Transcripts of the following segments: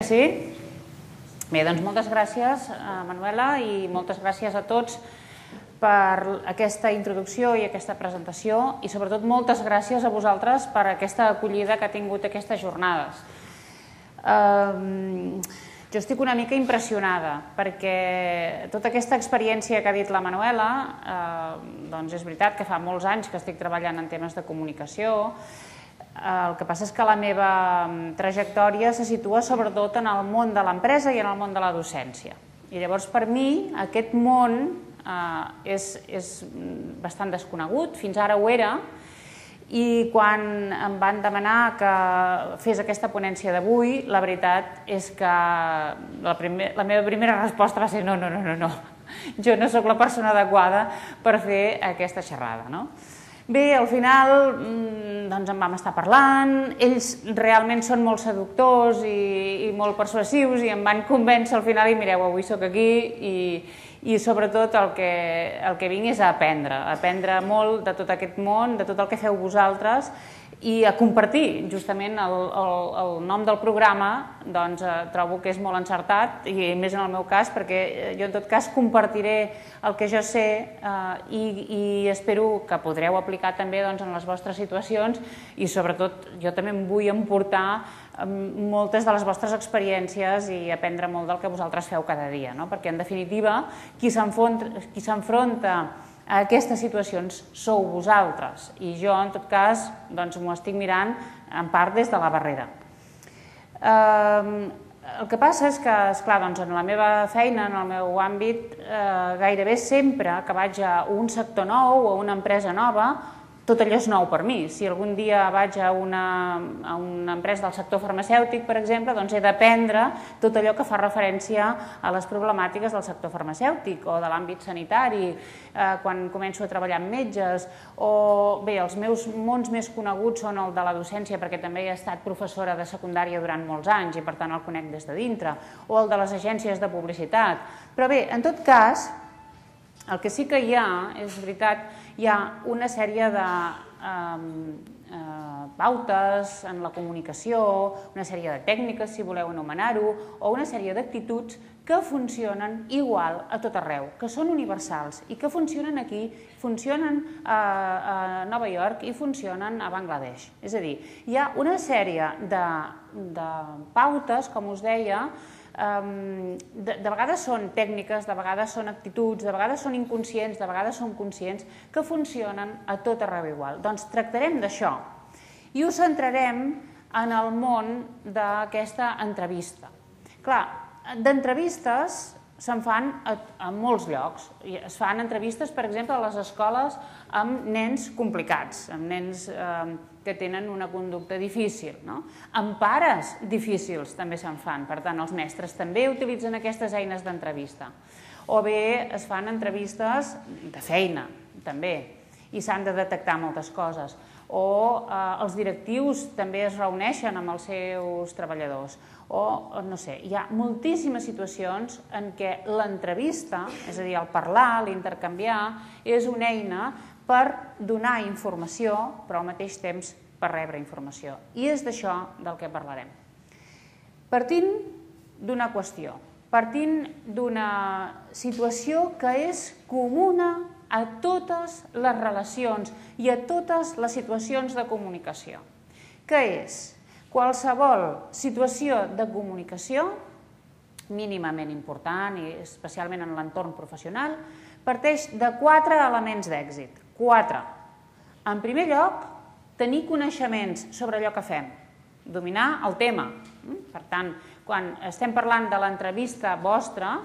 Sí? Bé, doncs moltes gràcies, Manuela, i moltes gràcies a tots per aquesta introducció i aquesta presentació i sobretot moltes gràcies a vosaltres per aquesta acollida que ha tingut aquestes jornades. Jo estic una mica impressionada perquè tota aquesta experiència que ha dit la Manuela, doncs és veritat que fa molts anys que estic treballant en temes de comunicació. El que passa és que la meva trajectòria se situa sobretot en el món de l'empresa i en el món de la docència. I llavors per mi aquest món és bastant desconegut, fins ara ho era, i quan em van demanar que fes aquesta ponència d'avui, la veritat és que la meva primera resposta va ser no, jo no sóc la persona adequada per fer aquesta xerrada, no? Bé, al final doncs en vam estar parlant, ells realment són molt seductors i molt persuasius i em van convèncer al final i mireu, avui sóc aquí i sobretot el que vinc és a aprendre molt de tot aquest món, de tot el que feu vosaltres i a compartir. Justament el nom del programa doncs trobo que és molt encertat i més en el meu cas perquè jo en tot cas compartiré el que jo sé i espero que podreu aplicar també en les vostres situacions i sobretot jo també em vull emportar moltes de les vostres experiències i aprendre molt del que vosaltres feu cada dia, perquè en definitiva qui s'enfronta a aquestes situacions sou vosaltres i jo en tot cas m'ho estic mirant en part des de la barrera. El que passa és que, esclar, en la meva feina, en el meu àmbit, gairebé sempre que vaig a un sector nou o a una empresa nova, tot allò és nou per mi. Si algun dia vaig a una empresa del sector farmacèutic, per exemple, doncs he d'aprendre tot allò que fa referència a les problemàtiques del sector farmacèutic o de l'àmbit sanitari, quan començo a treballar amb metges, o bé, els meus mons més coneguts són el de la docència, perquè també he estat professora de secundària durant molts anys i per tant el conec des de dintre, o el de les agències de publicitat. Però bé, en tot cas, el que sí que hi ha, és veritat, hi ha una sèrie de pautes en la comunicació, una sèrie de tècniques, si voleu anomenar-ho, o una sèrie d'actituds que funcionen igual a tot arreu, que són universals i que funcionen aquí, funcionen a Nova York i funcionen a Bangladesh. És a dir, hi ha una sèrie de pautes, com us deia, de vegades són tècniques, de vegades són actituds, de vegades són inconscients, de vegades són conscients, que funcionen a tot arreu igual. Doncs tractarem d'això i ho centrarem en el món d'aquesta entrevista. Clar, d'entrevistes se'n fan a molts llocs. Es fan entrevistes, per exemple, a les escoles amb nens complicats, amb nens que tenen una conducta difícil. Amb pares difícils també se'n fan, per tant, els mestres també utilitzen aquestes eines d'entrevista. O bé es fan entrevistes de feina, també, i s'han de detectar moltes coses. O els directius també es reuneixen amb els seus treballadors. O, no sé, hi ha moltíssimes situacions en què l'entrevista, és a dir, el parlar, l'intercanviar, és una eina per donar informació, però al mateix temps per rebre informació. I és d'això del que parlarem. Partint d'una qüestió, partint d'una situació que és comuna a totes les relacions i a totes les situacions de comunicació, que és qualsevol situació de comunicació mínimament important i especialment en l'entorn professional parteix de 4 elements d'èxit. 4. En primer lloc, tenir coneixements sobre allò que fem, dominar el tema. Per tant, quan estem parlant de l'entrevista vostra,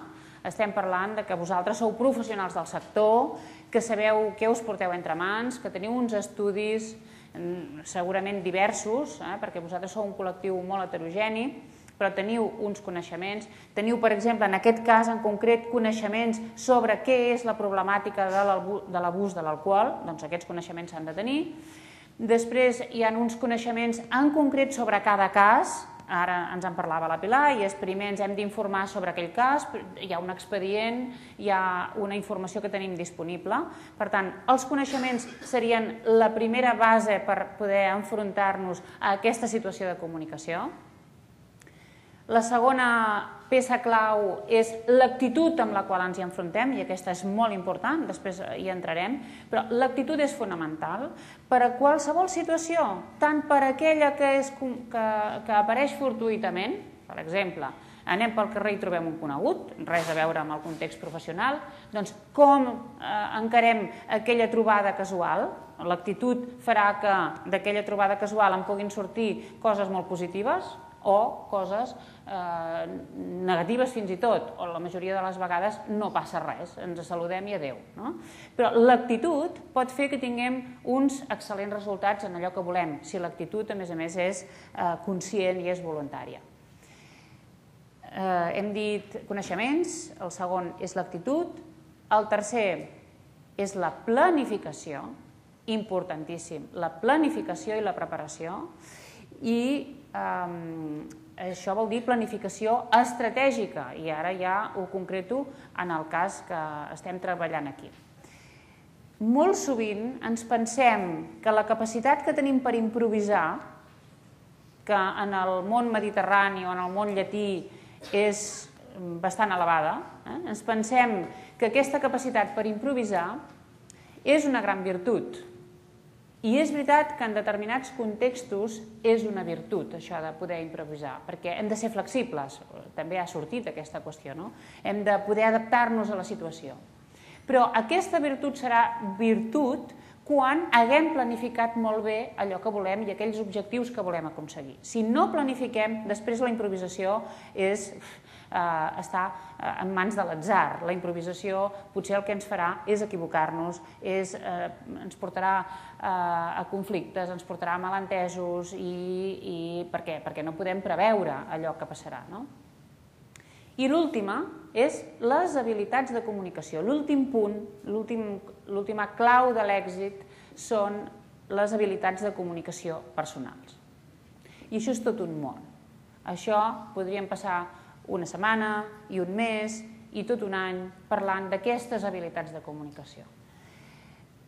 estem parlant que vosaltres sou professionals del sector, que sabeu què us porteu entre mans, que teniu uns estudis segurament diversos, perquè vosaltres sou un col·lectiu molt heterogeni, però teniu uns coneixements, teniu, per exemple, en aquest cas en concret, coneixements sobre què és la problemàtica de l'abús de l'alcohol, doncs aquests coneixements s'han de tenir. Després hi ha uns coneixements en concret sobre cada cas, ara ens en parlava la Pilar, i primer ens hem d'informar sobre aquell cas, hi ha un expedient, hi ha una informació que tenim disponible. Per tant, els coneixements serien la primera base per poder enfrontar-nos a aquesta situació de comunicació. La segona peça clau és l'actitud amb la qual ens hi enfrontem, i aquesta és molt important, després hi entrarem, però l'actitud és fonamental per a qualsevol situació, tant per aquella que apareix fortuïtament, per exemple, anem pel carrer i trobem un conegut, res a veure amb el context professional, doncs com encarem aquella trobada casual? L'actitud farà que d'aquella trobada casual en puguin sortir coses molt positives o coses negatives fins i tot, o la majoria de les vegades no passa res, ens saludem i adeu. Però l'actitud pot fer que tinguem uns excel·lents resultats en allò que volem, si l'actitud, a més, és conscient i és voluntària. Hem dit coneixements, el segon és l'actitud, el tercer és la planificació, importantíssim, la planificació i la preparació, i això vol dir planificació estratègica, i ara ja ho concreto en el cas que estem treballant aquí. Molt sovint ens pensem que la capacitat que tenim per improvisar, que en el món mediterrani o en el món llatí és bastant elevada, ens pensem que aquesta capacitat per improvisar és una gran virtut. I és veritat que en determinats contextos és una virtut, això de poder improvisar, perquè hem de ser flexibles, també ha sortit aquesta qüestió, no? Hem de poder adaptar-nos a la situació. Però aquesta virtut serà virtut quan haguem planificat molt bé allò que volem i aquells objectius que volem aconseguir. Si no planifiquem, després la improvisació està en mans de l'atzar. La improvisació potser el que ens farà és equivocar-nos, ens portarà a conflictes, ens portarà a malentesos, i per què? Perquè no podem preveure allò que passarà. I l'última és les habilitats de comunicació. L'últim punt, l'última clau de l'èxit són les habilitats de comunicació personals. I això és tot un món. Això podríem passar una setmana i un mes i tot un any parlant d'aquestes habilitats de comunicació.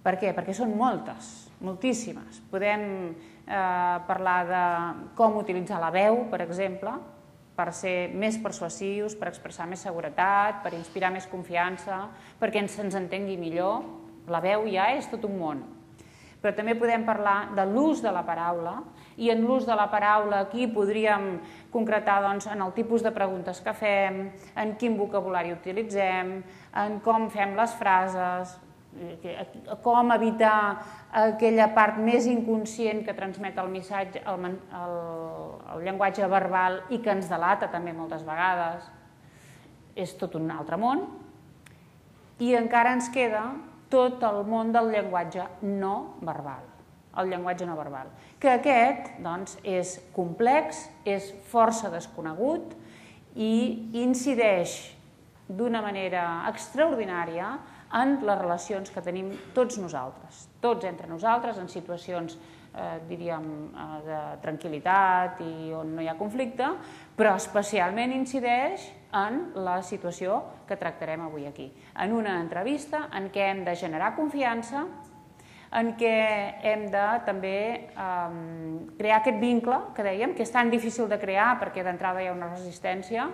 Per què? Perquè són moltes, moltíssimes. Podem parlar de com utilitzar la veu, per exemple, per ser més persuasius, per expressar més seguretat, per inspirar més confiança, perquè se'ns entengui millor. La veu ja és tot un món. Però també podem parlar de l'ús de la paraula, i en l'ús de la paraula aquí podríem concretar en el tipus de preguntes que fem, en quin vocabulari utilitzem, en com fem les frases, com evitar aquella part més inconscient que transmet el missatge, el llenguatge verbal, i que ens delata també moltes vegades. És tot un altre món. I encara ens queda tot el món del llenguatge no verbal, el llenguatge no verbal, que aquest és complex, és força desconegut i incideix d'una manera extraordinària en les relacions que tenim tots nosaltres, tots entre nosaltres, en situacions, diríem, de tranquil·litat i on no hi ha conflicte, però especialment incideix en la situació que tractarem avui aquí. En una entrevista en què hem de generar confiança, en què hem de també crear aquest vincle que dèiem, que és tan difícil de crear perquè d'entrada hi ha una resistència,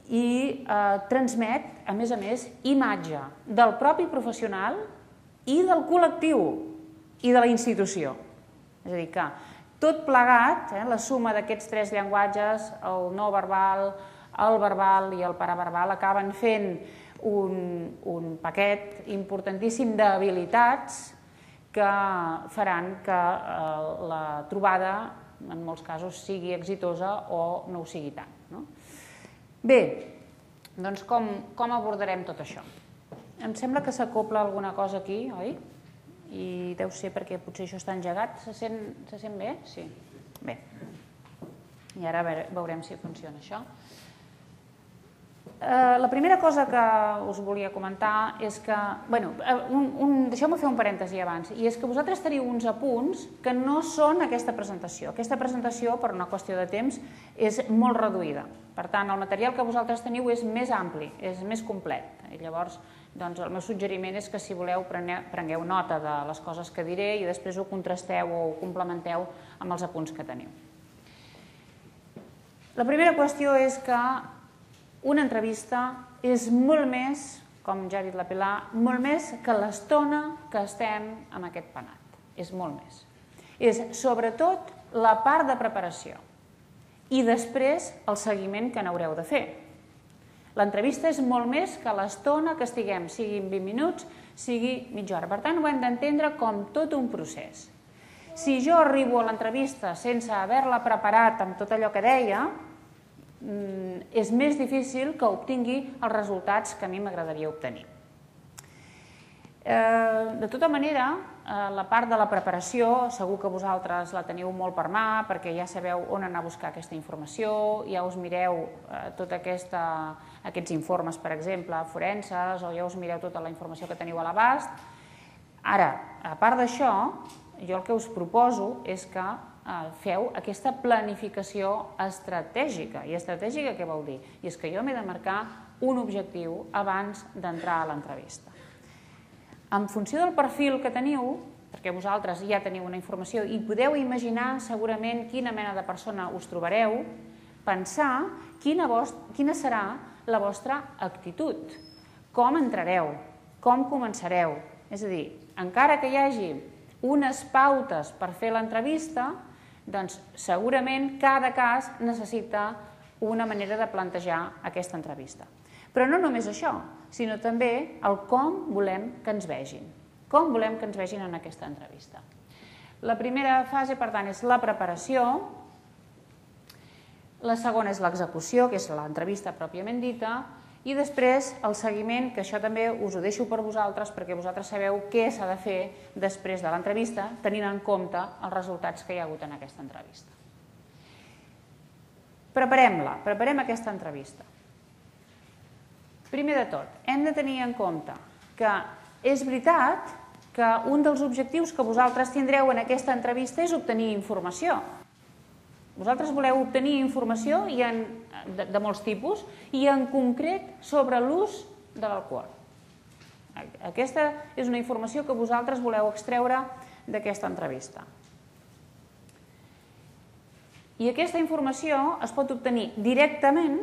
i transmet, a més, imatge del propi professional i del col·lectiu i de la institució. És a dir, que tot plegat, la suma d'aquests tres llenguatges, el no verbal, el verbal i el paraverbal, acaben fent un paquet importantíssim d'habilitats que faran que la trobada, en molts casos, sigui exitosa o no ho sigui tant. Bé, doncs com abordarem tot això? Em sembla que s'acopla alguna cosa aquí, oi? I deu ser perquè potser això està engegat. Se sent bé? Sí. Bé. I ara veurem si funciona això. La primera cosa que us volia comentar és que... Deixeu-me fer un parèntesi abans. I és que vosaltres teniu uns apunts que no són aquesta presentació. Aquesta presentació, per una qüestió de temps, és molt reduïda. Per tant, el material que vosaltres teniu és més ampli, és més complet. I llavors, el meu suggeriment és que, si voleu, prengueu nota de les coses que diré i després ho contrasteu o ho complementeu amb els apunts que teniu. La primera qüestió és que una entrevista és molt més, com ja ha dit la Pilar, molt més que l'estona que estem amb aquest penat. És molt més. És sobretot la part de preparació i després el seguiment que n'haureu de fer. L'entrevista és molt més que l'estona que estiguem, sigui 20 minuts, sigui mitja hora. Per tant, ho hem d'entendre com tot un procés. Si jo arribo a l'entrevista sense haver-la preparat amb tot allò que deia, és més difícil que obtingui els resultats que a mi m'agradaria obtenir. De tota manera, la part de la preparació, segur que vosaltres la teniu molt per mà, perquè ja sabeu on anar a buscar aquesta informació, ja us mireu tots aquests informes, per exemple, forenses, o ja us mireu tota la informació que teniu a l'abast. Ara, a part d'això, jo el que us proposo és que feu aquesta planificació estratègica. I estratègica què vol dir? I és que jo m'he de marcar un objectiu abans d'entrar a l'entrevista. En funció del perfil que teniu, perquè vosaltres ja teniu una informació i podeu imaginar segurament quina mena de persona us trobareu, pensar quina serà la vostra actitud, com entrareu, com començareu. És a dir, encara que hi hagi unes pautes per fer l'entrevista, doncs segurament cada cas necessita una manera de plantejar aquesta entrevista. Però no només això, sinó també el com volem que ens vegin. Com volem que ens vegin en aquesta entrevista. La primera fase, per tant, és la preparació. La segona és l'execució, que és l'entrevista pròpiament dita. I després el seguiment, que això també us ho deixo per vosaltres, perquè vosaltres sabeu què s'ha de fer després de l'entrevista, tenint en compte els resultats que hi ha hagut en aquesta entrevista. Preparem-la, preparem aquesta entrevista. Primer de tot, hem de tenir en compte que és veritat que un dels objectius que vosaltres tindreu en aquesta entrevista és obtenir informació. Vosaltres voleu obtenir informació de molts tipus i en concret sobre l'ús de l'alcohol. Aquesta és una informació que vosaltres voleu extreure d'aquesta entrevista. I aquesta informació es pot obtenir directament.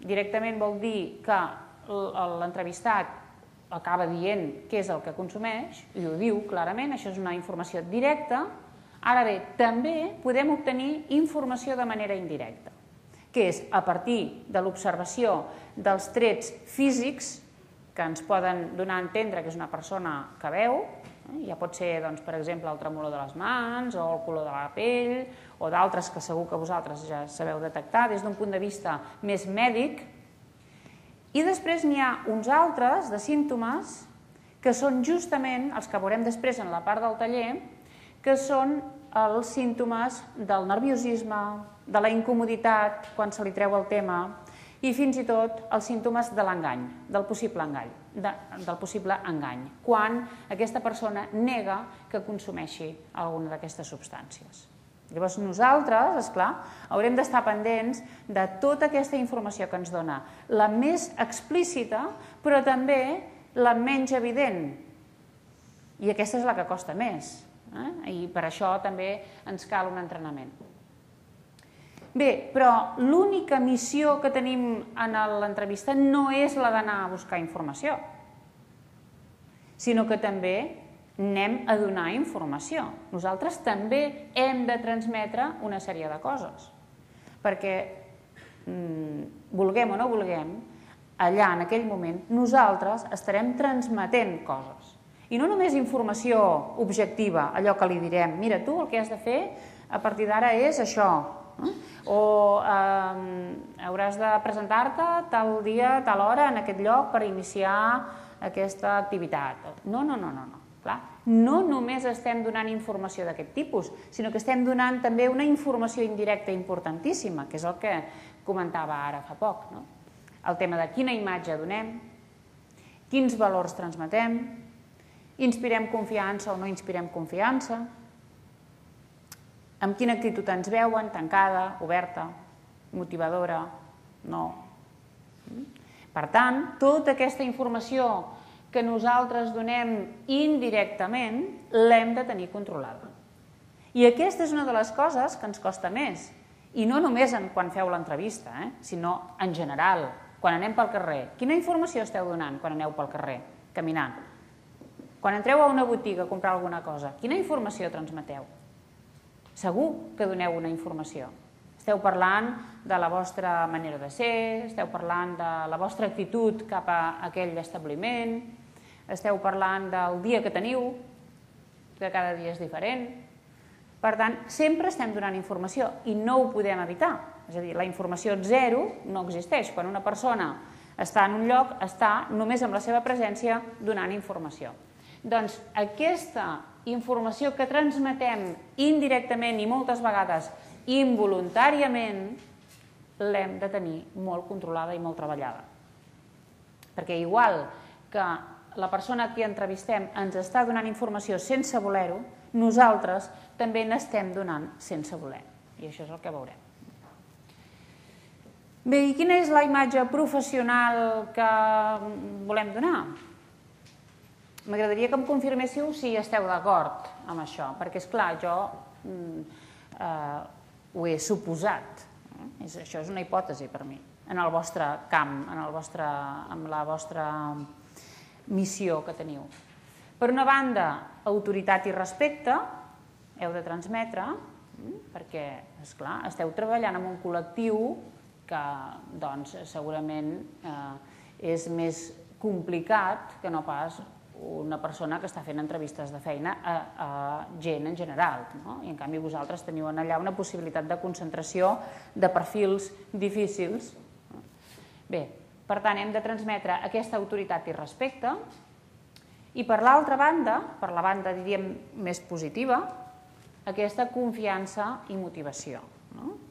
Directament vol dir que l'entrevistat acaba dient què és el que consumeix i ho diu clarament, això és una informació directa. Ara bé, també podem obtenir informació de manera indirecta, que és a partir de l'observació dels trets físics que ens poden donar a entendre que és una persona que veu, ja pot ser, per exemple, el tremolor de les mans o el color de la pell o d'altres que segur que vosaltres ja sabeu detectar des d'un punt de vista més mèdic. I després n'hi ha uns altres de símptomes que són justament els que veurem després en la part del taller, que són els símptomes del nerviosisme, de la incomoditat quan se li treu el tema i fins i tot els símptomes de l'engany, del possible engany, quan aquesta persona nega que consumeixi alguna d'aquestes substàncies. Llavors nosaltres, esclar, haurem d'estar pendents de tota aquesta informació que ens dona, la més explícita però també la menys evident, i aquesta és la que costa més. I per això també ens cal un entrenament. Bé, però l'única missió que tenim en l'entrevista no és la d'anar a buscar informació, sinó que també anem a donar informació. Nosaltres també hem de transmetre una sèrie de coses, perquè vulguem o no vulguem, allà en aquell moment nosaltres estarem transmetent coses. I no només informació objectiva, allò que li direm, mira, tu el que has de fer a partir d'ara és això, o hauràs de presentar-te tal dia, tal hora, en aquest lloc per iniciar aquesta activitat. No. No només estem donant informació d'aquest tipus, sinó que estem donant també una informació indirecta importantíssima, que és el que comentava ara fa poc. El tema de quina imatge donem, quins valors transmetem, inspirem confiança o no inspirem confiança, amb quina actitud ens veuen, tancada, oberta, motivadora, no. Per tant, tota aquesta informació que nosaltres donem indirectament l'hem de tenir controlada. I aquesta és una de les coses que ens costa més I no només quan feu l'entrevista, sinó en general, quan anem pel carrer. Quina informació esteu donant quan aneu pel carrer, caminant? Quan entreu a una botiga a comprar alguna cosa, quina informació transmeteu? Segur que doneu una informació. Esteu parlant de la vostra manera de ser, esteu parlant de la vostra actitud cap a aquell establiment, esteu parlant del dia que teniu, que cada dia és diferent. Per tant, sempre estem donant informació i no ho podem evitar. És a dir, la informació zero no existeix. Quan una persona està en un lloc, està només amb la seva presència donant informació. Doncs aquesta informació que transmetem indirectament i moltes vegades involuntàriament l'hem de tenir molt controlada i molt treballada. Perquè igual que la persona a qui entrevistem ens està donant informació sense voler-ho, nosaltres també n'estem donant sense voler. I això és el que veurem. Bé, i quina és la imatge professional que volem donar? M'agradaria que em confirméssiu si esteu d'acord amb això, perquè, esclar, jo ho he suposat. Això és una hipòtesi per mi, en el vostre camp, en la vostra missió que teniu. Per una banda, autoritat i respecte heu de transmetre, perquè, esclar, esteu treballant en un col·lectiu que, doncs, segurament és més complicat que no pas una persona que està fent entrevistes de feina a gent en general. I, en canvi, vosaltres teniu allà una possibilitat de concentració de perfils difícils. Bé, per tant, hem de transmetre aquesta autoritat i respecte. I per l'altra banda, per la banda, diríem, més positiva, aquesta confiança i motivació.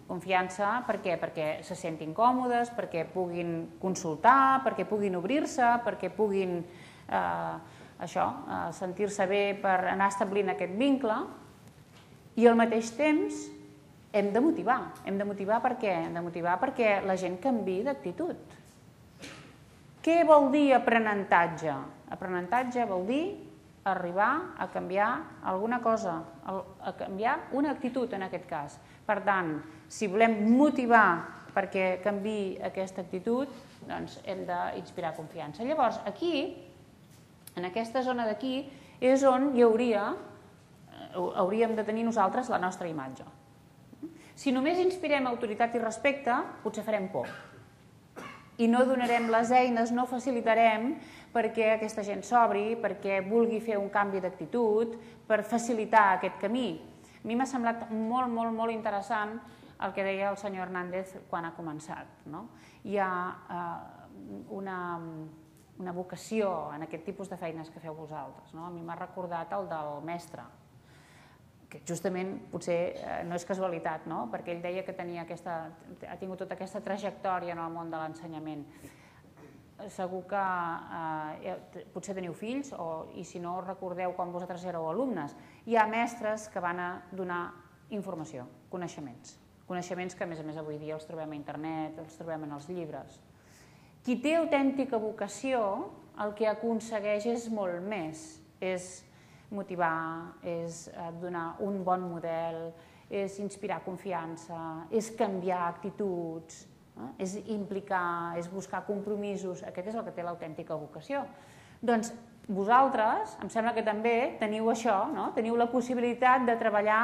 Confiança, per què? Perquè se sentin còmodes, perquè puguin consultar, perquè puguin obrir-se, perquè puguin sentir-se bé per anar establint aquest vincle. I al mateix temps hem de motivar. Hem de motivar per què? Hem de motivar perquè la gent canviï d'actitud. Què vol dir aprenentatge? Aprenentatge vol dir arribar a canviar alguna cosa, a canviar una actitud en aquest cas. Per tant, si volem motivar perquè canviï aquesta actitud, doncs hem d'inspirar confiança. Llavors, aquí, en aquesta zona d'aquí, és on hauríem de tenir nosaltres la nostra imatge. Si només inspirem autoritat i respecte, potser farem por. I no donarem les eines, no facilitarem perquè aquesta gent s'obri, perquè vulgui fer un canvi d'actitud, per facilitar aquest camí. A mi m'ha semblat molt, molt, molt interessant el que deia el senyor Hernández quan ha començat. Hi ha una vocació en aquest tipus de feines que feu vosaltres. A mi m'ha recordat el del mestre, que justament potser no és casualitat, perquè ell deia que ha tingut tota aquesta trajectòria en el món de l'ensenyament. Segur que potser teniu fills, i si no recordeu quan vosaltres éreu alumnes, hi ha mestres que van a donar informació, coneixements que a més avui dia els trobem a internet, els trobem en els llibres. Qui té autèntica vocació, el que aconsegueix és molt més, és motivar, és donar un bon model, és inspirar confiança, és canviar actituds, és implicar, és buscar compromisos. Aquest és el que té l'autèntica vocació. Doncs vosaltres, em sembla que també teniu això, teniu la possibilitat de treballar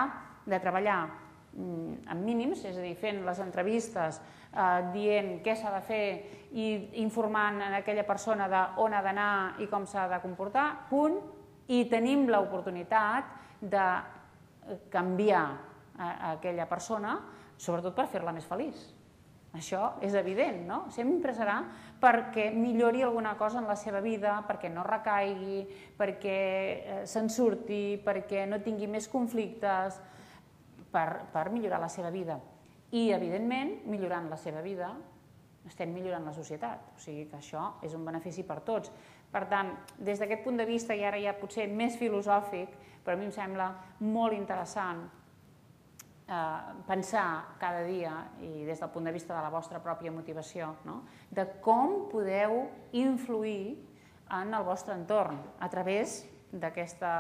amb mínims, és a dir, fent les entrevistes, dient què s'ha de fer i informant a aquella persona d'on ha d'anar i com s'ha de comportar, punt, i tenim l'oportunitat de canviar aquella persona, sobretot per fer-la més feliç. Això és evident, no? Sempre serà perquè millori alguna cosa en la seva vida, perquè no recaigui, perquè se'n surti, perquè no tingui més conflictes, per millorar la seva vida. I, evidentment, millorant la seva vida, estem millorant la societat. O sigui que això és un benefici per tots. Per tant, des d'aquest punt de vista, i ara ja potser més filosòfic, però a mi em sembla molt interessant pensar cada dia, i des del punt de vista de la vostra pròpia motivació, de com podeu influir en el vostre entorn a través d'aquesta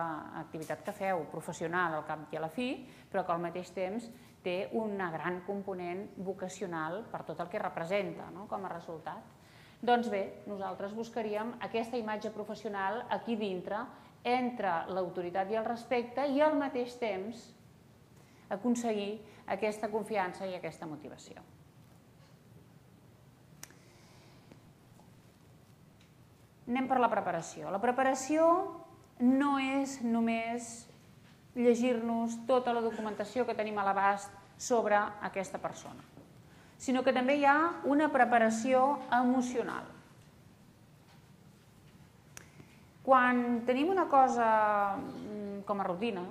activitat que feu professional al cap i a la fi, però que al mateix temps té una gran component vocacional per tot el que representa com a resultat. Doncs bé, nosaltres buscaríem aquesta imatge professional aquí dintre, entre l'autoritat i el respecte, i al mateix temps aconseguir aquesta confiança i aquesta motivació. Anem per la preparació. La preparació no és només llegir-nos tota la documentació que tenim a l'abast sobre aquesta persona, sinó que també hi ha una preparació emocional. Quan tenim una cosa com a rutina,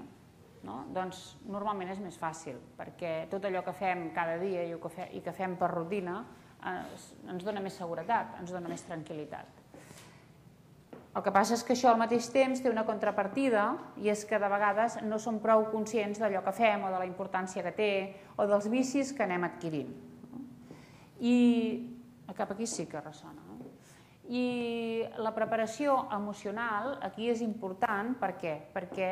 doncs normalment és més fàcil, perquè tot allò que fem cada dia i que fem per rutina ens dona més seguretat, ens dona més tranquil·litat. El que passa és que això al mateix temps té una contrapartida, i és que de vegades no som prou conscients d'allò que fem o de la importància que té o dels vicis que anem adquirint. I cap aquí sí que ressona. I la preparació emocional aquí és important. Per què? Perquè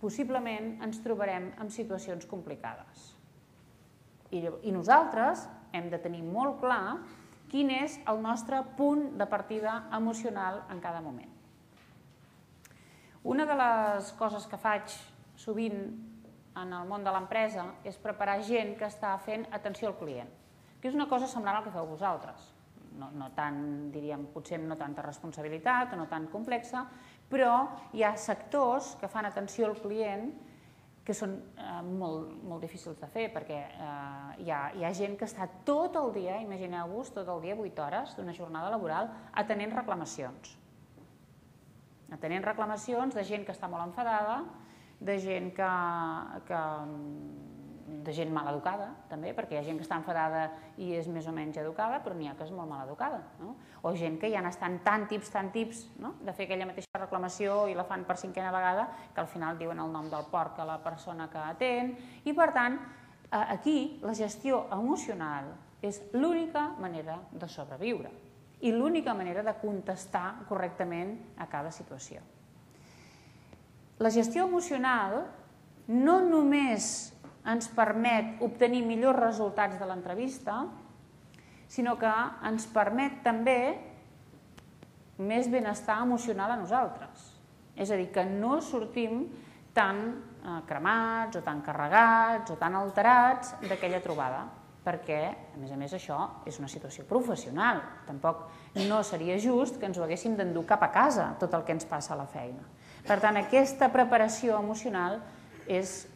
possiblement ens trobarem en situacions complicades. I nosaltres hem de tenir molt clar quin és el nostre punt de partida emocional en cada moment. Una de les coses que faig sovint en el món de l'empresa és preparar gent que està fent atenció al client, que és una cosa semblant al que feu vosaltres. No tant, diríem, potser no tanta responsabilitat o no tan complexa, però hi ha sectors que fan atenció al client que són molt difícils de fer, perquè hi ha gent que està tot el dia, imagineu-vos, tot el dia, 8 hores d'una jornada laboral, atenent reclamacions. Atenent reclamacions de gent que està molt enfadada, de gent mal educada, també, perquè hi ha gent que està enfadada i és més o menys educada, però n'hi ha que és molt mal educada. O gent que ja n'estan tan tips de fer aquella mateixa reclamació i la fan per 5a vegada, que al final diuen el nom del porc a la persona que atén. I per tant, aquí la gestió emocional és l'única manera de sobreviure i l'única manera de contestar correctament a cada situació. La gestió emocional no només ens permet obtenir millors resultats de l'entrevista, sinó que ens permet també més benestar emocional a nosaltres. És a dir, que no sortim tan cremats o tan carregats o tan alterats d'aquella trobada, perquè, a més, això és una situació professional. Tampoc no seria just que ens ho haguéssim d'endur cap a casa, tot el que ens passa a la feina. Per tant, aquesta preparació emocional és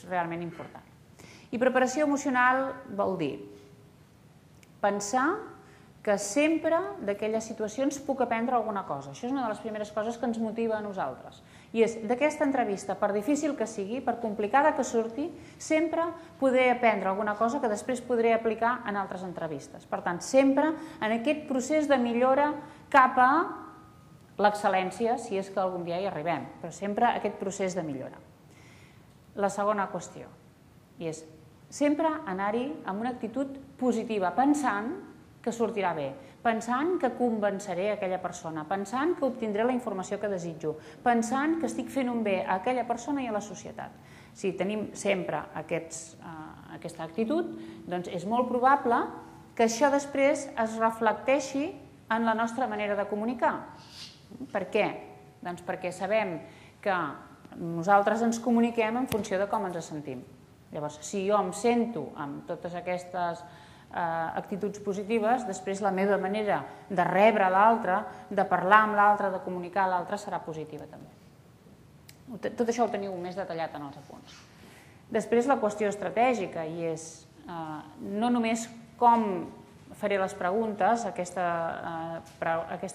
realment important. I preparació emocional vol dir pensar que sempre d'aquelles situacions puc aprendre alguna cosa. Això és una de les primeres coses que ens motiva a nosaltres. I és d'aquesta entrevista, per difícil que sigui, per complicada que surti, sempre poder aprendre alguna cosa que després podré aplicar en altres entrevistes. Per tant, sempre en aquest procés de millora cap a l'excel·lència, si és que algun dia hi arribem, però sempre aquest procés de millora. La segona qüestió és sempre anar-hi amb una actitud positiva, pensant que sortirà bé, pensant que convenceré aquella persona, pensant que obtindré la informació que desitjo, pensant que estic fent un bé a aquella persona i a la societat. Si tenim sempre aquesta actitud, doncs és molt probable que això després es reflecteixi en la nostra manera de comunicar. Per què? Doncs perquè sabem que nosaltres ens comuniquem en funció de com ens sentim. Llavors, si jo em sento amb totes aquestes actituds positives, després la meva manera de rebre l'altre, de parlar amb l'altre, de comunicar a l'altre serà positiva també. Tot això ho teniu més detallat en els apunts. Després la qüestió estratègica, i és no només com faré les preguntes, aquesta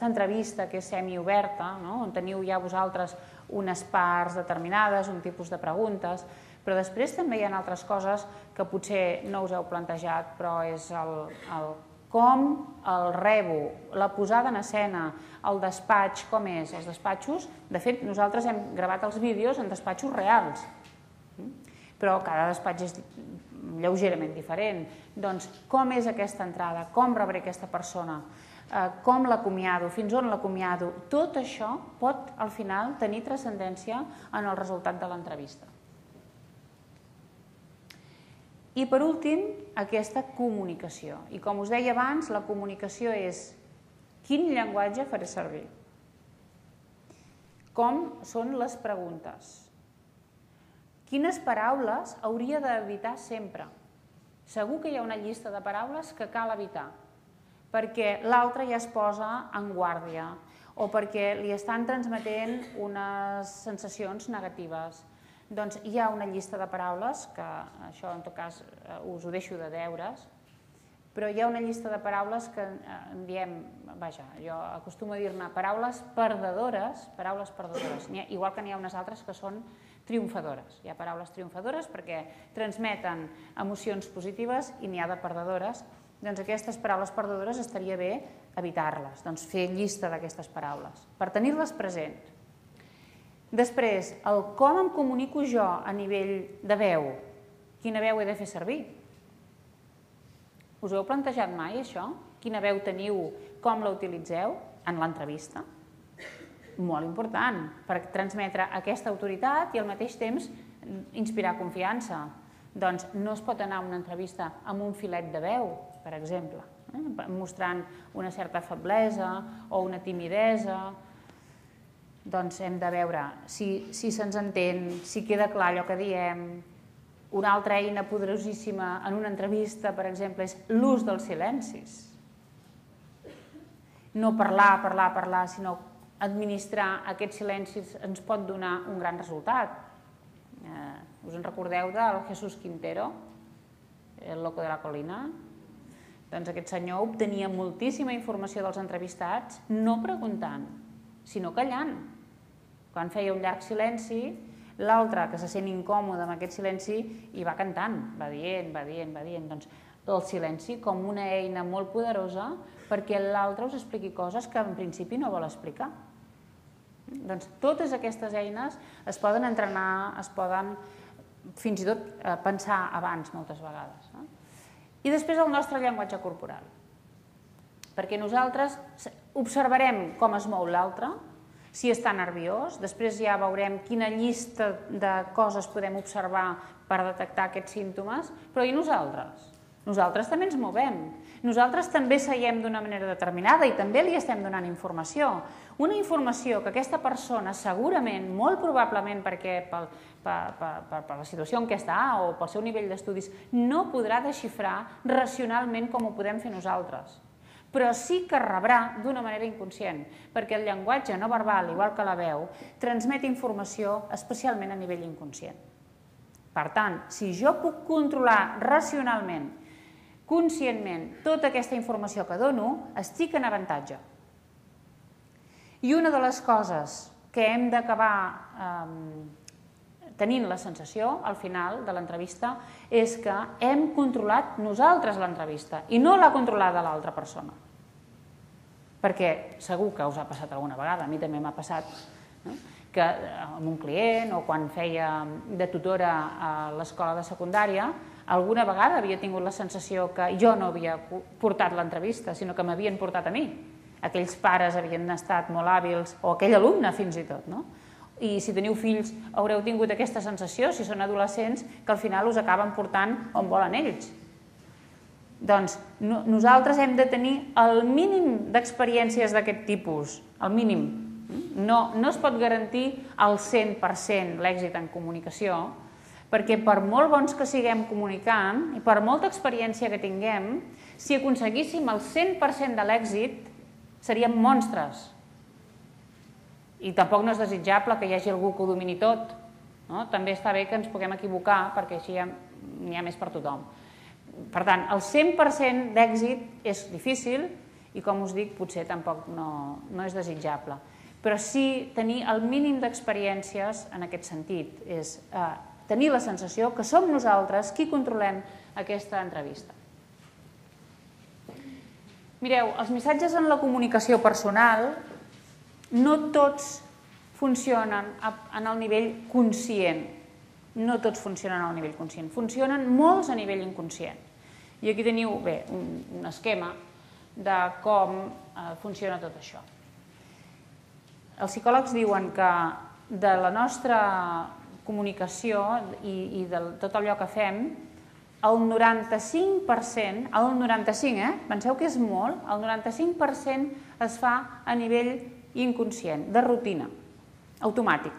entrevista que és semioberta, on teniu ja vosaltres unes parts determinades, un tipus de preguntes, però després també hi ha altres coses que potser no us heu plantejat, però és el com el rebo, la posada en escena, el despatx, com és, els despatxos. De fet, nosaltres hem gravat els vídeos en despatxos reals, però cada despatx és lleugerament diferent. Doncs com és aquesta entrada, com rebré aquesta persona, com l'acomiado, fins on l'acomiado, tot això pot al final tenir transcendència en el resultat de l'entrevista. I per últim, aquesta comunicació. I com us deia abans, la comunicació és quin llenguatge faré servir, com són les preguntes, quines paraules hauria d'evitar sempre. Segur que hi ha una llista de paraules que cal evitar, perquè l'altre ja es posa en guàrdia o perquè li estan transmetent unes sensacions negatives. Doncs hi ha una llista de paraules, que això en tot cas us ho deixo de deures, però hi ha una llista de paraules que en diem, vaja, jo acostumo a dir-ne paraules perdedores, igual que n'hi ha unes altres que són triomfadores. Hi ha paraules triomfadores perquè transmeten emocions positives i n'hi ha de perdedores. Doncs aquestes paraules perdedores estaria bé evitar-les, doncs fer llista d'aquestes paraules, per tenir-les present. Després, el com em comunico jo a nivell de veu, quina veu he de fer servir? Us ho heu plantejat mai, això? Quina veu teniu, com la utilitzeu en l'entrevista? Molt important, per transmetre aquesta autoritat i al mateix temps inspirar confiança. Doncs no es pot anar a una entrevista amb un filet de veu, per exemple, mostrant una certa feblesa o una timidesa. Doncs hem de veure si se'ns entén, si queda clar allò que diem. Una altra eina poderosíssima en una entrevista, per exemple, és l'ús dels silencis. No parlar, sinó administrar aquests silencis ens pot donar un gran resultat. Us en recordeu del Jesús Quintero, el loco de la colina? Doncs aquest senyor obtenia moltíssima informació dels entrevistats, no preguntant, sinó callant. Quan feia un llarg silenci, l'altre, que se sent incòmode amb aquest silenci, i va cantant, va dient. Doncs el silenci com una eina molt poderosa perquè l'altre us expliqui coses que en principi no vol explicar. Doncs totes aquestes eines es poden entrenar, es poden fins i tot pensar abans moltes vegades. I després el nostre llenguatge corporal. Perquè nosaltres observarem com es mou l'altre, si està nerviós, després ja veurem quina llista de coses podem observar per detectar aquests símptomes, però i nosaltres? Nosaltres també ens movem. Nosaltres també seiem d'una manera determinada i també li estem donant informació. Una informació que aquesta persona segurament, molt probablement perquè per la situació en què està o pel seu nivell d'estudis, no podrà desxifrar racionalment com ho podem fer nosaltres. Però sí que rebrà d'una manera inconscient, perquè el llenguatge no verbal, igual que la veu, transmet informació especialment a nivell inconscient. Per tant, si jo puc controlar racionalment, conscientment, tota aquesta informació que dono, estic en avantatge. I una de les coses que hem d'acabar tenint la sensació, al final de l'entrevista, és que hem controlat nosaltres l'entrevista i no l'ha controlada l'altra persona. Perquè segur que us ha passat alguna vegada, a mi també m'ha passat, que amb un client o quan feia de tutora a l'escola de secundària, alguna vegada havia tingut la sensació que jo no havia portat l'entrevista, sinó que m'havien portat a mi. Aquells pares havien estat molt hàbils, o aquell alumne fins i tot, no? I si teniu fills haureu tingut aquesta sensació, si són adolescents, que al final us acaben portant on volen ells. Doncs nosaltres hem de tenir el mínim d'experiències d'aquest tipus, el mínim. No es pot garantir al 100% l'èxit en comunicació, perquè per molt bons que siguem comunicant i per molta experiència que tinguem, si aconseguíssim el 100% de l'èxit, seríem monstres. I tampoc no és desitjable que hi hagi algú que ho domini tot. També està bé que ens puguem equivocar, perquè així n'hi ha més per tothom. Per tant, el 100% d'èxit és difícil i, com us dic, potser tampoc no és desitjable. Però sí tenir el mínim d'experiències en aquest sentit, és tenir la sensació que som nosaltres qui controlem aquesta entrevista. Mireu, els missatges en la comunicació personal no tots funcionen en el nivell conscient. No tots funcionen al nivell conscient. Funcionen molts a nivell inconscient. I aquí teniu, bé, un esquema de com funciona tot això. Els psicòlegs diuen que de la nostra comunicació i de tot allò que fem, el 95%, penseu que és molt, el 95% es fa a nivell inconscient, de rutina, automàtic.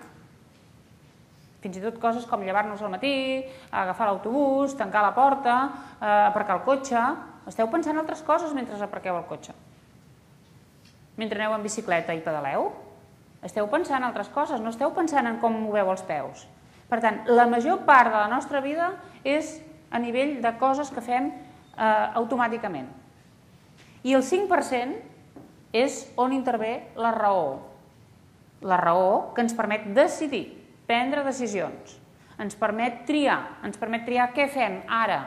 Fins i tot coses com llevar-nos al matí, agafar l'autobús, tancar la porta, aparcar el cotxe. Esteu pensant en altres coses mentre aparqueu el cotxe. Mentre aneu en bicicleta i pedaleu, esteu pensant en altres coses, no esteu pensant en com moveu els peus. Per tant, la major part de la nostra vida és a nivell de coses que fem automàticament. I el 5% és on intervé la raó. La raó que ens permet decidir, prendre decisions, ens permet triar què fem ara,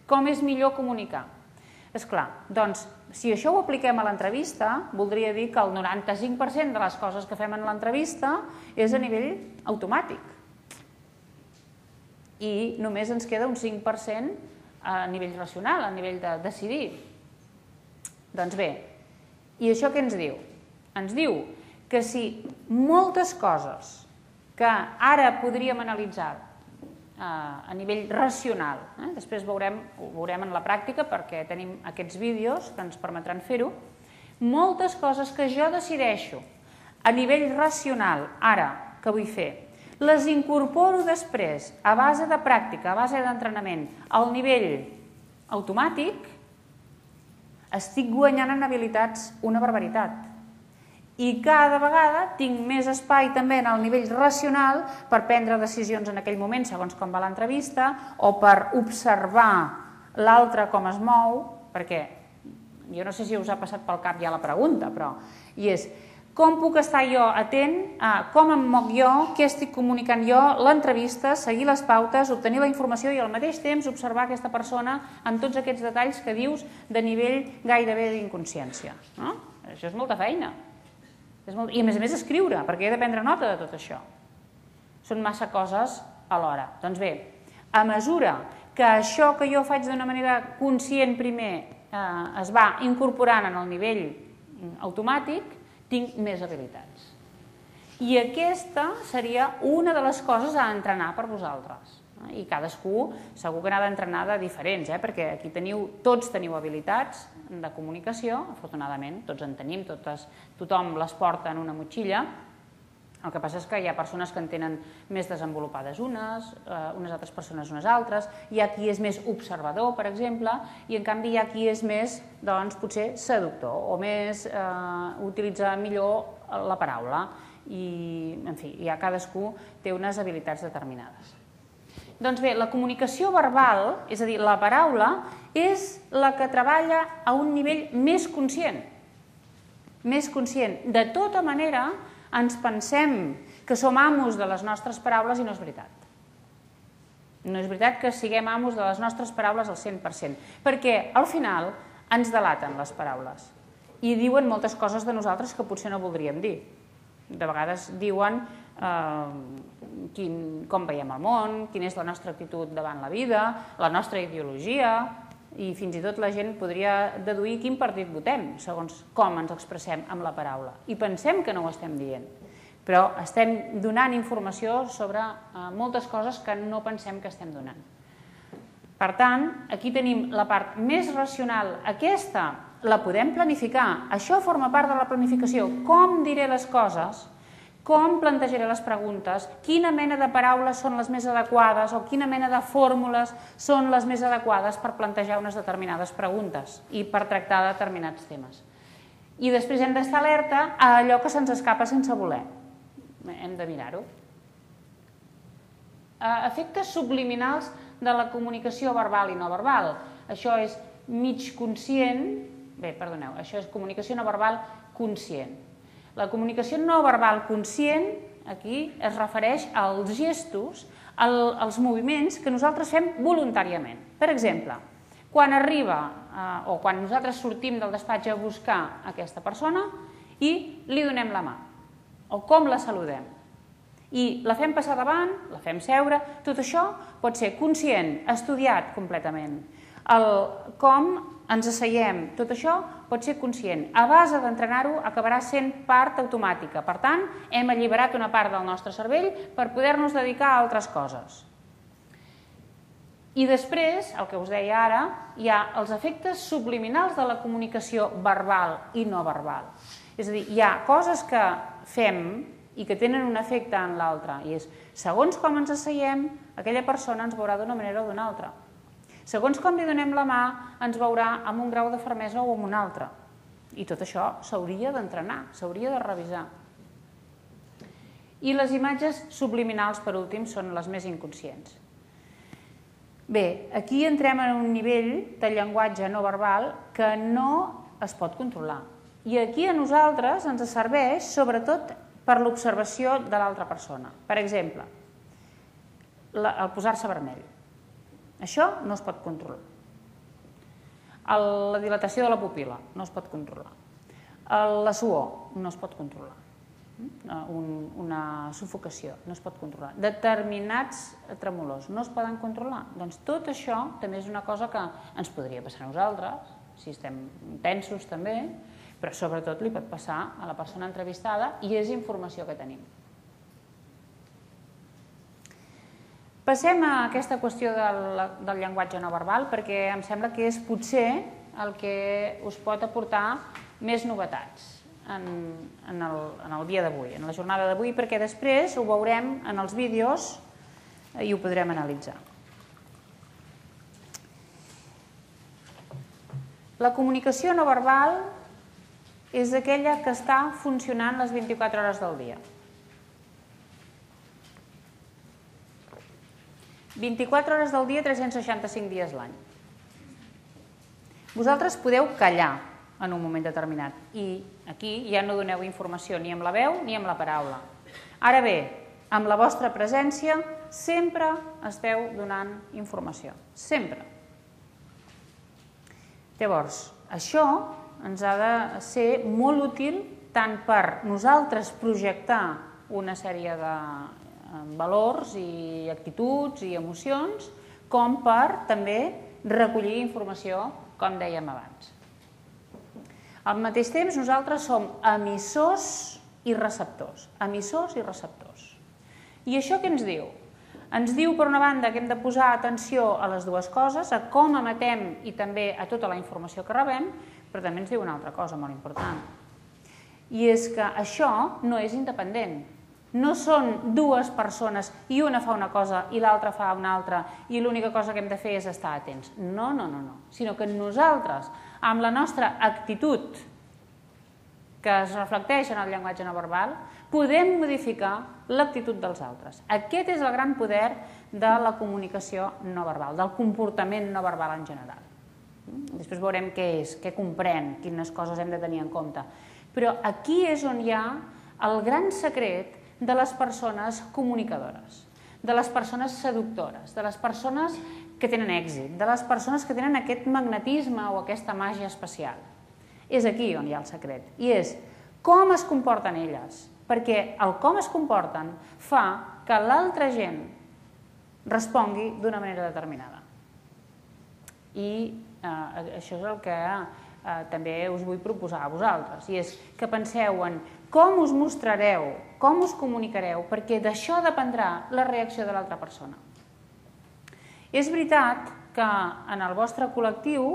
com és millor comunicar. Esclar, doncs, si això ho apliquem a l'entrevista, voldria dir que el 95% de les coses que fem en l'entrevista és a nivell automàtic. I només ens queda un 5% a nivell racional, a nivell de decidir. Doncs bé, i això què ens diu? Ens diu que si moltes coses que ara podríem analitzar a nivell racional, després ho veurem en la pràctica perquè tenim aquests vídeos que ens permetran fer-ho, moltes coses que jo decideixo a nivell racional ara que vull fer, les incorporo després a base de pràctica, a base d'entrenament, al nivell automàtic, estic guanyant en habilitats una barbaritat. I cada vegada tinc més espai també en el nivell racional per prendre decisions en aquell moment, segons com va l'entrevista, o per observar l'altre com es mou, perquè jo no sé si us ha passat pel cap ja la pregunta, però i és com puc estar jo atent a com em moc jo, què estic comunicant jo, l'entrevista, seguir les pautes, obtenir la informació i al mateix temps observar aquesta persona amb tots aquests detalls que dius de nivell gairebé d'inconsciència. Això és molta feina. I a més escriure, perquè he de prendre nota de tot això. Són massa coses alhora. Doncs bé, a mesura que això que jo faig d'una manera conscient primer es va incorporant en el nivell automàtic, tinc més habilitats. I aquesta seria una de les coses a entrenar per vosaltres. I cadascú segur que n'ha d'entrenar de diferents, perquè aquí tots teniu habilitats de comunicació, afortunadament, tots en tenim, tothom les porta en una motxilla. El que passa és que hi ha persones que en tenen més desenvolupades unes altres persones unes altres, hi ha qui és més observador, per exemple, i en canvi hi ha qui és més, doncs, potser seductor, o més utilitza millor la paraula, i, en fi, cadascú té unes habilitats determinades. Doncs bé, la comunicació verbal, és a dir, la paraula, és la que treballa a un nivell més conscient. Més conscient. De tota manera, ens pensem que som amos de les nostres paraules i no és veritat. No és veritat que siguem amos de les nostres paraules al 100%, perquè al final ens delaten les paraules i diuen moltes coses de nosaltres que potser no voldríem dir. De vegades diuen com veiem el món, quina és la nostra actitud davant la vida, la nostra ideologia, i fins i tot la gent podria deduir quin partit votem, segons com ens expressem amb la paraula. I pensem que no ho estem dient, però estem donant informació sobre moltes coses que no pensem que estem donant. Per tant, aquí tenim la part més racional. Aquesta la podem planificar. Això forma part de la planificació. Com diré les coses, com plantejaré les preguntes, quina mena de paraules són les més adequades o quina mena de fórmules són les més adequades per plantejar unes determinades preguntes i per tractar determinats temes. I després hem d'estar alerta a allò que se'ns escapa sense voler. Hem de mirar-ho. Efectes subliminals de la comunicació verbal i no verbal. Això és mig conscient, això és comunicació no verbal conscient. La comunicació no verbal conscient, aquí, es refereix als gestos, als moviments que nosaltres fem voluntàriament. Per exemple, quan arriba o quan nosaltres sortim del despatx a buscar aquesta persona i li donem la mà, o com la saludem. I la fem passar davant, la fem seure, tot això pot ser conscient, estudiat completament. Com ens asseiem, tot això pot ser conscient. A base d'entrenar-ho acabarà sent part automàtica. Per tant, hem alliberat una part del nostre cervell per poder-nos dedicar a altres coses. I després, el que us deia ara, hi ha els efectes subliminals de la comunicació verbal i no verbal. És a dir, hi ha coses que fem i que tenen un efecte en l'altre. I és, segons com ens asseiem, aquella persona ens veurà d'una manera o d'una altra. Segons com li donem la mà, ens veurà amb un grau de fermesa o amb un altre. I tot això s'hauria d'entrenar, s'hauria de revisar. I les imatges subliminals, per últim, són les més inconscients. Bé, aquí entrem en un nivell de llenguatge no verbal que no es pot controlar. I aquí a nosaltres ens serveix, sobretot, per l'observació de l'altra persona. Per exemple, el posar-se vermell. Això no es pot controlar. La dilatació de la pupil·la no es pot controlar. La suor no es pot controlar. Una sufocació no es pot controlar. Determinats tremolors no es poden controlar. Doncs tot això també és una cosa que ens podria passar a nosaltres, si estem tensos també, però sobretot li pot passar a la persona entrevistada i és informació que tenim. Passem a aquesta qüestió del llenguatge no verbal perquè em sembla que és potser el que us pot aportar més novetats en el dia d'avui, en la jornada d'avui, perquè després ho veurem en els vídeos i ho podrem analitzar. La comunicació no verbal és aquella que està funcionant les 24 hores del dia. 24 hores del dia, 365 dies l'any. Vosaltres podeu callar en un moment determinat i aquí ja no doneu informació ni amb la veu ni amb la paraula. Ara bé, amb la vostra presència sempre esteu donant informació. Sempre. Llavors, això ens ha de ser molt útil tant per nosaltres projectar una sèrie de valors i actituds i emocions, com per també recollir informació, com dèiem abans. Al mateix temps, nosaltres som emissors i receptors. Emissors i receptors. I això què ens diu? Ens diu, per una banda, que hem de posar atenció a les dues coses, a com emetem i també a tota la informació que rebem, però també ens diu una altra cosa molt important. I és que això no és independent. No són dues persones i una fa una cosa i l'altra fa una altra i l'única cosa que hem de fer és estar atents. No, no, no, no. Sinó que nosaltres, amb la nostra actitud que es reflecteix en el llenguatge no verbal, podem modificar l'actitud dels altres. Aquest és el gran poder de la comunicació no verbal, del comportament no verbal en general. Després veurem què és, què comprèn, quines coses hem de tenir en compte. Però aquí és on hi ha el gran secret de les persones comunicadores, de les persones seductores, de les persones que tenen èxit, de les persones que tenen aquest magnetisme o aquesta màgia especial. És aquí on hi ha el secret, i és com es comporten elles, perquè el com es comporten fa que l'altra gent respongui d'una manera determinada. I això és el que també us vull proposar a vosaltres, i és que penseu en com us mostrareu, com us comunicareu, perquè d'això dependrà la reacció de l'altra persona. És veritat que en el vostre col·lectiu,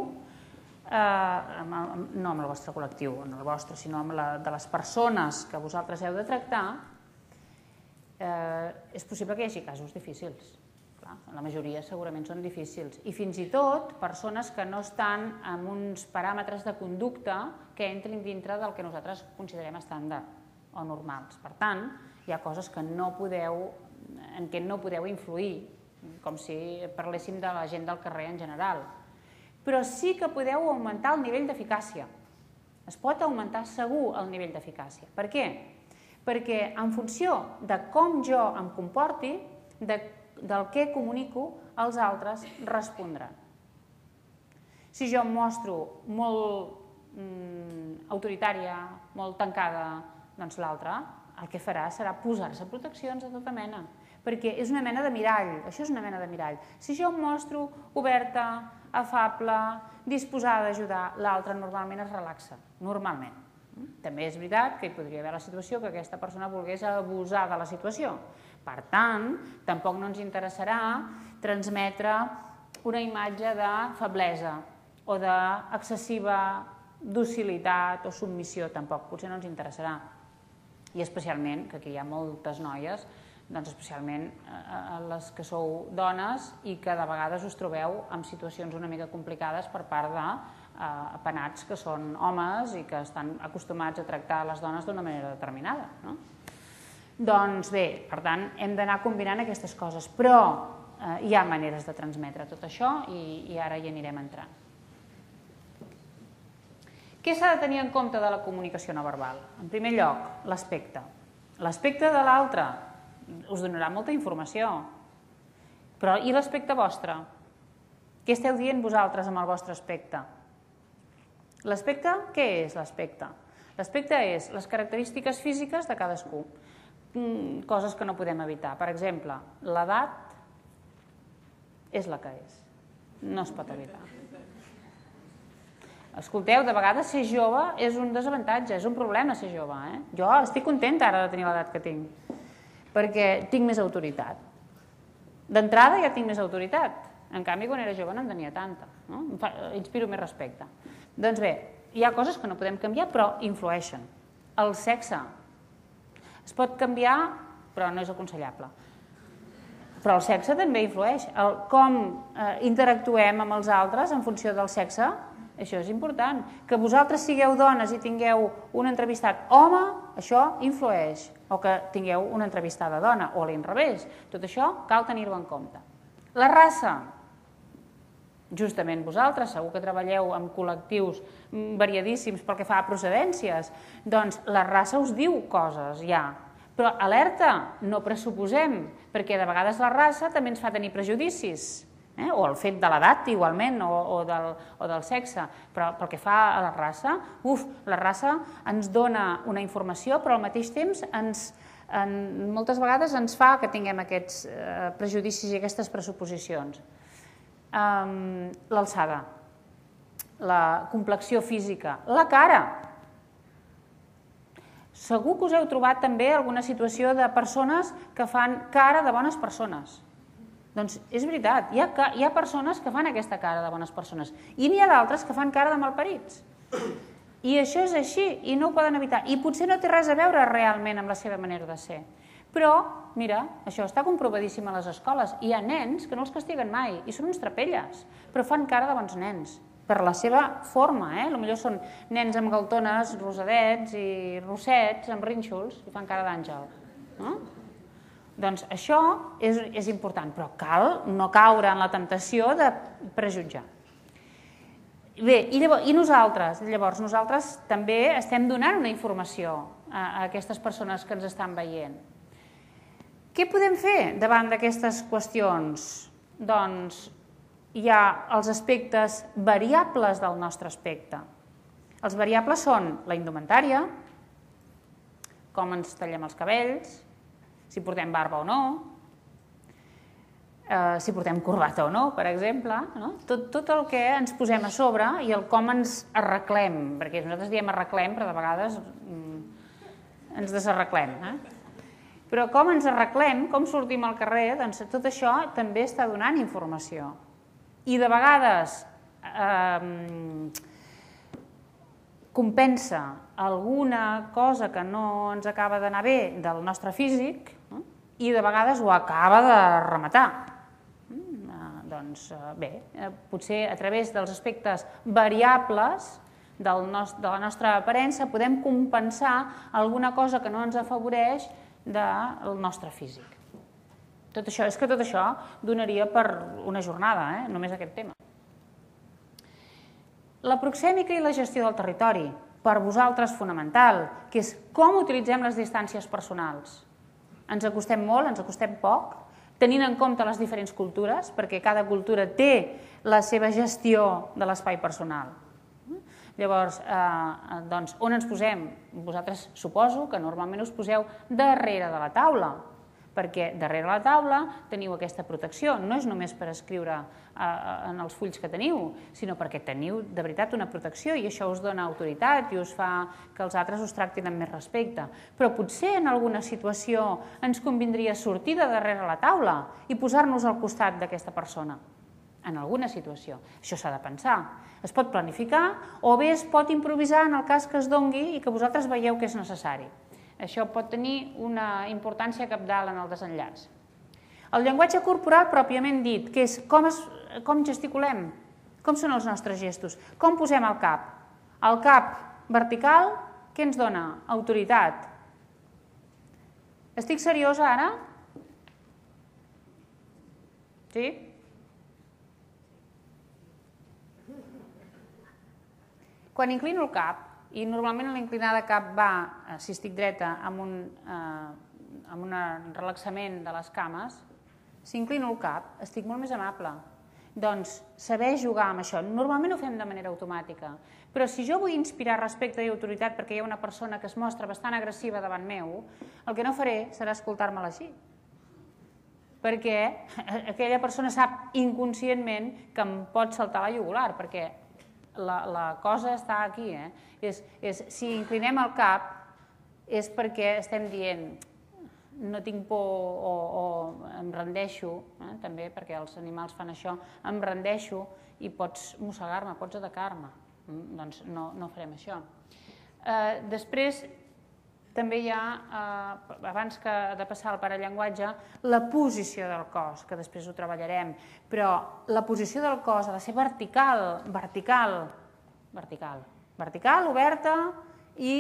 no en el vostre col·lectiu, en el vostre, sinó en de les persones que vosaltres heu de tractar, és possible que hi hagi casos difícils. La majoria segurament són difícils. I fins i tot persones que no estan amb uns paràmetres de conducta que entrin dintre del que nosaltres considerem estàndard o normals. Per tant, hi ha coses que en què no podeu influir, com si parléssim de la gent del carrer en general. Però sí que podeu augmentar el nivell d'eficàcia. Es pot augmentar segur el nivell d'eficàcia. Per què? Perquè en funció de com jo em comporti, del que comunico, els altres respondran. Si jo em mostro molt autoritària, molt tancada, doncs l'altre el que farà serà posar-se proteccions de tota mena, perquè és una mena de mirall, això és una mena de mirall. Si jo em mostro oberta, afable, disposada a ajudar, l'altre normalment es relaxa, normalment. També és veritat que hi podria haver la situació que aquesta persona volgués abusar de la situació. Per tant, tampoc no ens interessarà transmetre una imatge de feblesa o d'excessiva docilitat o submissió, tampoc, potser no ens interessarà. I especialment, que aquí hi ha moltes noies, doncs especialment les que sou dones i que de vegades us trobeu en situacions una mica complicades per part de penats que són homes i que estan acostumats a tractar les dones d'una manera determinada. Doncs bé, per tant, hem d'anar combinant aquestes coses, però hi ha maneres de transmetre tot això i ara hi anirem entrant. Què s'ha de tenir en compte de la comunicació no verbal? En primer lloc, l'aspecte. L'aspecte de l'altre us donarà molta informació. Però i l'aspecte vostre? Què esteu dient vosaltres amb el vostre aspecte? L'aspecte, què és l'aspecte? L'aspecte és les característiques físiques de cadascú. Coses que no podem evitar. Per exemple, l'edat és la que és. No es pot evitar. Escolteu, de vegades ser jove és un desavantatge, és un problema ser jove. Jo estic contenta ara de tenir l'edat que tinc, perquè tinc més autoritat. D'entrada ja tinc més autoritat, en canvi quan era jove no en tenia tanta, inspiro més respecte. Doncs bé, hi ha coses que no podem canviar però influeixen. El sexe es pot canviar però no és aconsellable. Però el sexe també influeix. Com interactuem amb els altres en funció del sexe, això és important. Que vosaltres sigueu dones i tingueu un entrevistat home, això influeix. O que tingueu una entrevistada dona, o a l'inrevés. Tot això cal tenir-ho en compte. La raça. Justament vosaltres, segur que treballeu amb col·lectius variadíssims pel que fa a procedències, doncs la raça us diu coses ja. Però alerta, no pressuposem, perquè de vegades la raça també ens fa tenir prejudicis. O el fet de l'edat igualment, o del sexe, però pel que fa a la raça, la raça ens dona una informació, però al mateix temps moltes vegades ens fa que tinguem aquests prejudicis i aquestes pressuposicions. L'alçada, la complexió física, la cara. Segur que us heu trobat també alguna situació de persones que fan cara de bones persones. Doncs és veritat, hi ha persones que fan aquesta cara de bones persones i n'hi ha d'altres que fan cara de malparits. I això és així i no ho poden evitar. I potser no té res a veure realment amb la seva manera de ser. Però, mira, això està comprovadíssim a les escoles. Hi ha nens que no els castiguen mai i són uns trapelles, però fan cara de bons nens per la seva forma. Potser són nens amb galtones, rosadets i rossets, amb rínxols, i fan cara d'àngel. Doncs això és important, però cal no caure en la temptació de prejutjar. Bé, i nosaltres? Llavors, nosaltres també estem donant una informació a aquestes persones que ens estan veient. Què podem fer davant d'aquestes qüestions? Doncs hi ha els aspectes variables del nostre aspecte. Els variables són la indumentària, com ens tallem els cabells, si portem barba o no, si portem corbata o no, per exemple, tot el que ens posem a sobre i el com ens arreglem, perquè nosaltres diem arreglem, però de vegades ens desarreglem. Però com ens arreglem, com sortim al carrer, doncs tot això també està donant informació. I de vegades compensa alguna cosa que no ens acaba d'anar bé del nostre físic i de vegades ho acaba de rematar. Doncs bé, potser a través dels aspectes variables de la nostra aparença podem compensar alguna cosa que no ens afavoreix del nostre físic. És que tot això donaria per una jornada, només aquest tema. La proxèmica i la gestió del territori, per vosaltres fonamental, que és com utilitzem les distàncies personals. Ens acostem molt, ens acostem poc, tenint en compte les diferents cultures, perquè cada cultura té la seva gestió de l'espai personal. Llavors, on ens posem? Vosaltres suposo que normalment us poseu darrere de la taula, perquè darrere la taula teniu aquesta protecció. No és només per escriure en els fulls que teniu, sinó perquè teniu de veritat una protecció i això us dona autoritat i us fa que els altres us tractin amb més respecte. Però potser en alguna situació ens convindria sortir de darrere la taula i posar-nos al costat d'aquesta persona. En alguna situació. Això s'ha de pensar. Es pot planificar o bé es pot improvisar en el cas que es dongui i que vosaltres veieu que és necessari. Això pot tenir una importància cabdal en el desenllaç. El llenguatge corporal pròpiament dit, que és com gesticulem, com són els nostres gestos, com posem el cap. El cap vertical, què ens dona? Autoritat. Estic seriosa ara? Sí? Quan inclino el cap, i normalment l'inclinar de cap va, si estic dreta, amb un relaxament de les cames, si inclino el cap, estic molt més amable. Doncs saber jugar amb això. Normalment ho fem de manera automàtica, però si jo vull inspirar respecte i autoritat perquè hi ha una persona que es mostra bastant agressiva davant meu, el que no faré serà escoltar-me-la així. Perquè aquella persona sap inconscientment que em pot saltar la jugular, perquè la cosa està aquí. Si inclinem el cap és perquè estem dient no tinc por o em rendeixo, també perquè els animals fan això, em rendeixo i pots mossegar-me, pots atacar-me. Doncs no farem això. Després també hi ha, abans de passar al parallenguatge, la posició del cos, que després ho treballarem, però la posició del cos ha de ser vertical, oberta i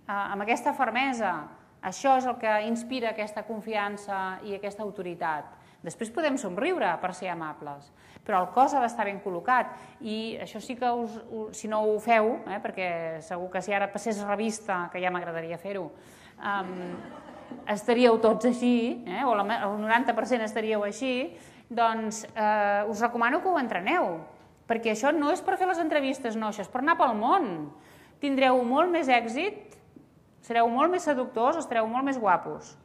amb aquesta fermesa. Això és el que inspira aquesta confiança i aquesta autoritat. Després podem somriure per ser amables, però el cos ha d'estar ben col·locat i això sí que, si no ho feu, perquè segur que si ara passés revista, que ja m'agradaria fer-ho, estaríeu tots així, o el 90% estaríeu així, doncs us recomano que ho entreneu, perquè això no és per fer les entrevistes, no, això és per anar pel món. Tindreu molt més èxit, sereu molt més seductors, estareu molt més guapos.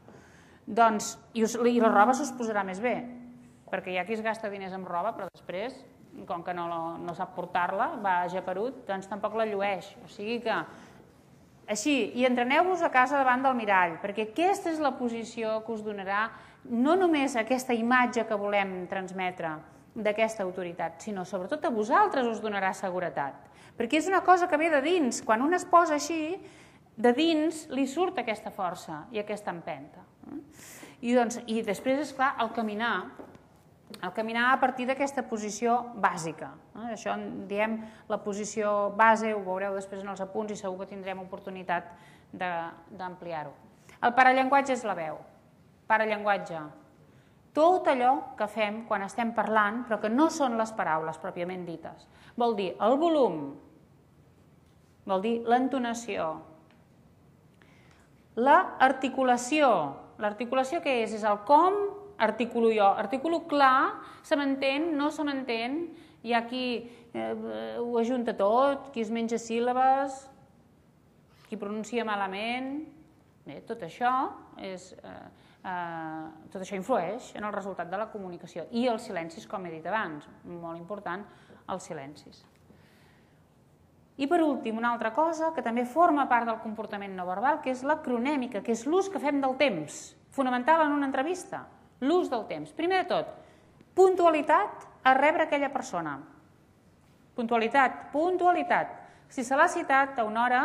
Doncs, i la roba s'us posarà més bé, perquè hi ha qui es gasta diners en roba, però després, com que no sap portar-la, va geperut, doncs tampoc la llueix. O sigui que, així, i entreneu-vos a casa davant del mirall, perquè aquesta és la posició que us donarà no només aquesta imatge que volem transmetre d'aquesta autoritat, sinó sobretot a vosaltres us donarà seguretat. Perquè és una cosa que ve de dins. Quan un es posa així, de dins li surt aquesta força i aquesta empenta. I després, esclar, el caminar a partir d'aquesta posició bàsica. Això en diem la posició base, ho veureu després en els apunts i segur que tindrem oportunitat d'ampliar-ho. El parallenguatge és la veu. Parallenguatge. Tot allò que fem quan estem parlant, però que no són les paraules pròpiament dites. Vol dir el volum, vol dir l'entonació, l'articulació. L'articulació què és? És el com articulo jo. Articulo clar, se m'entén, no se m'entén, hi ha qui ho ajunta tot, qui es menja síl·labes, qui pronuncia malament. Bé, tot això influeix en el resultat de la comunicació. I els silencis, com he dit abans, molt important, els silencis. I per últim, una altra cosa que també forma part del comportament no verbal, que és la cronèmica, que és l'ús que fem del temps, fonamental en una entrevista, l'ús del temps. Primer de tot, puntualitat a rebre aquella persona. Puntualitat. Si se l'ha citat a una hora,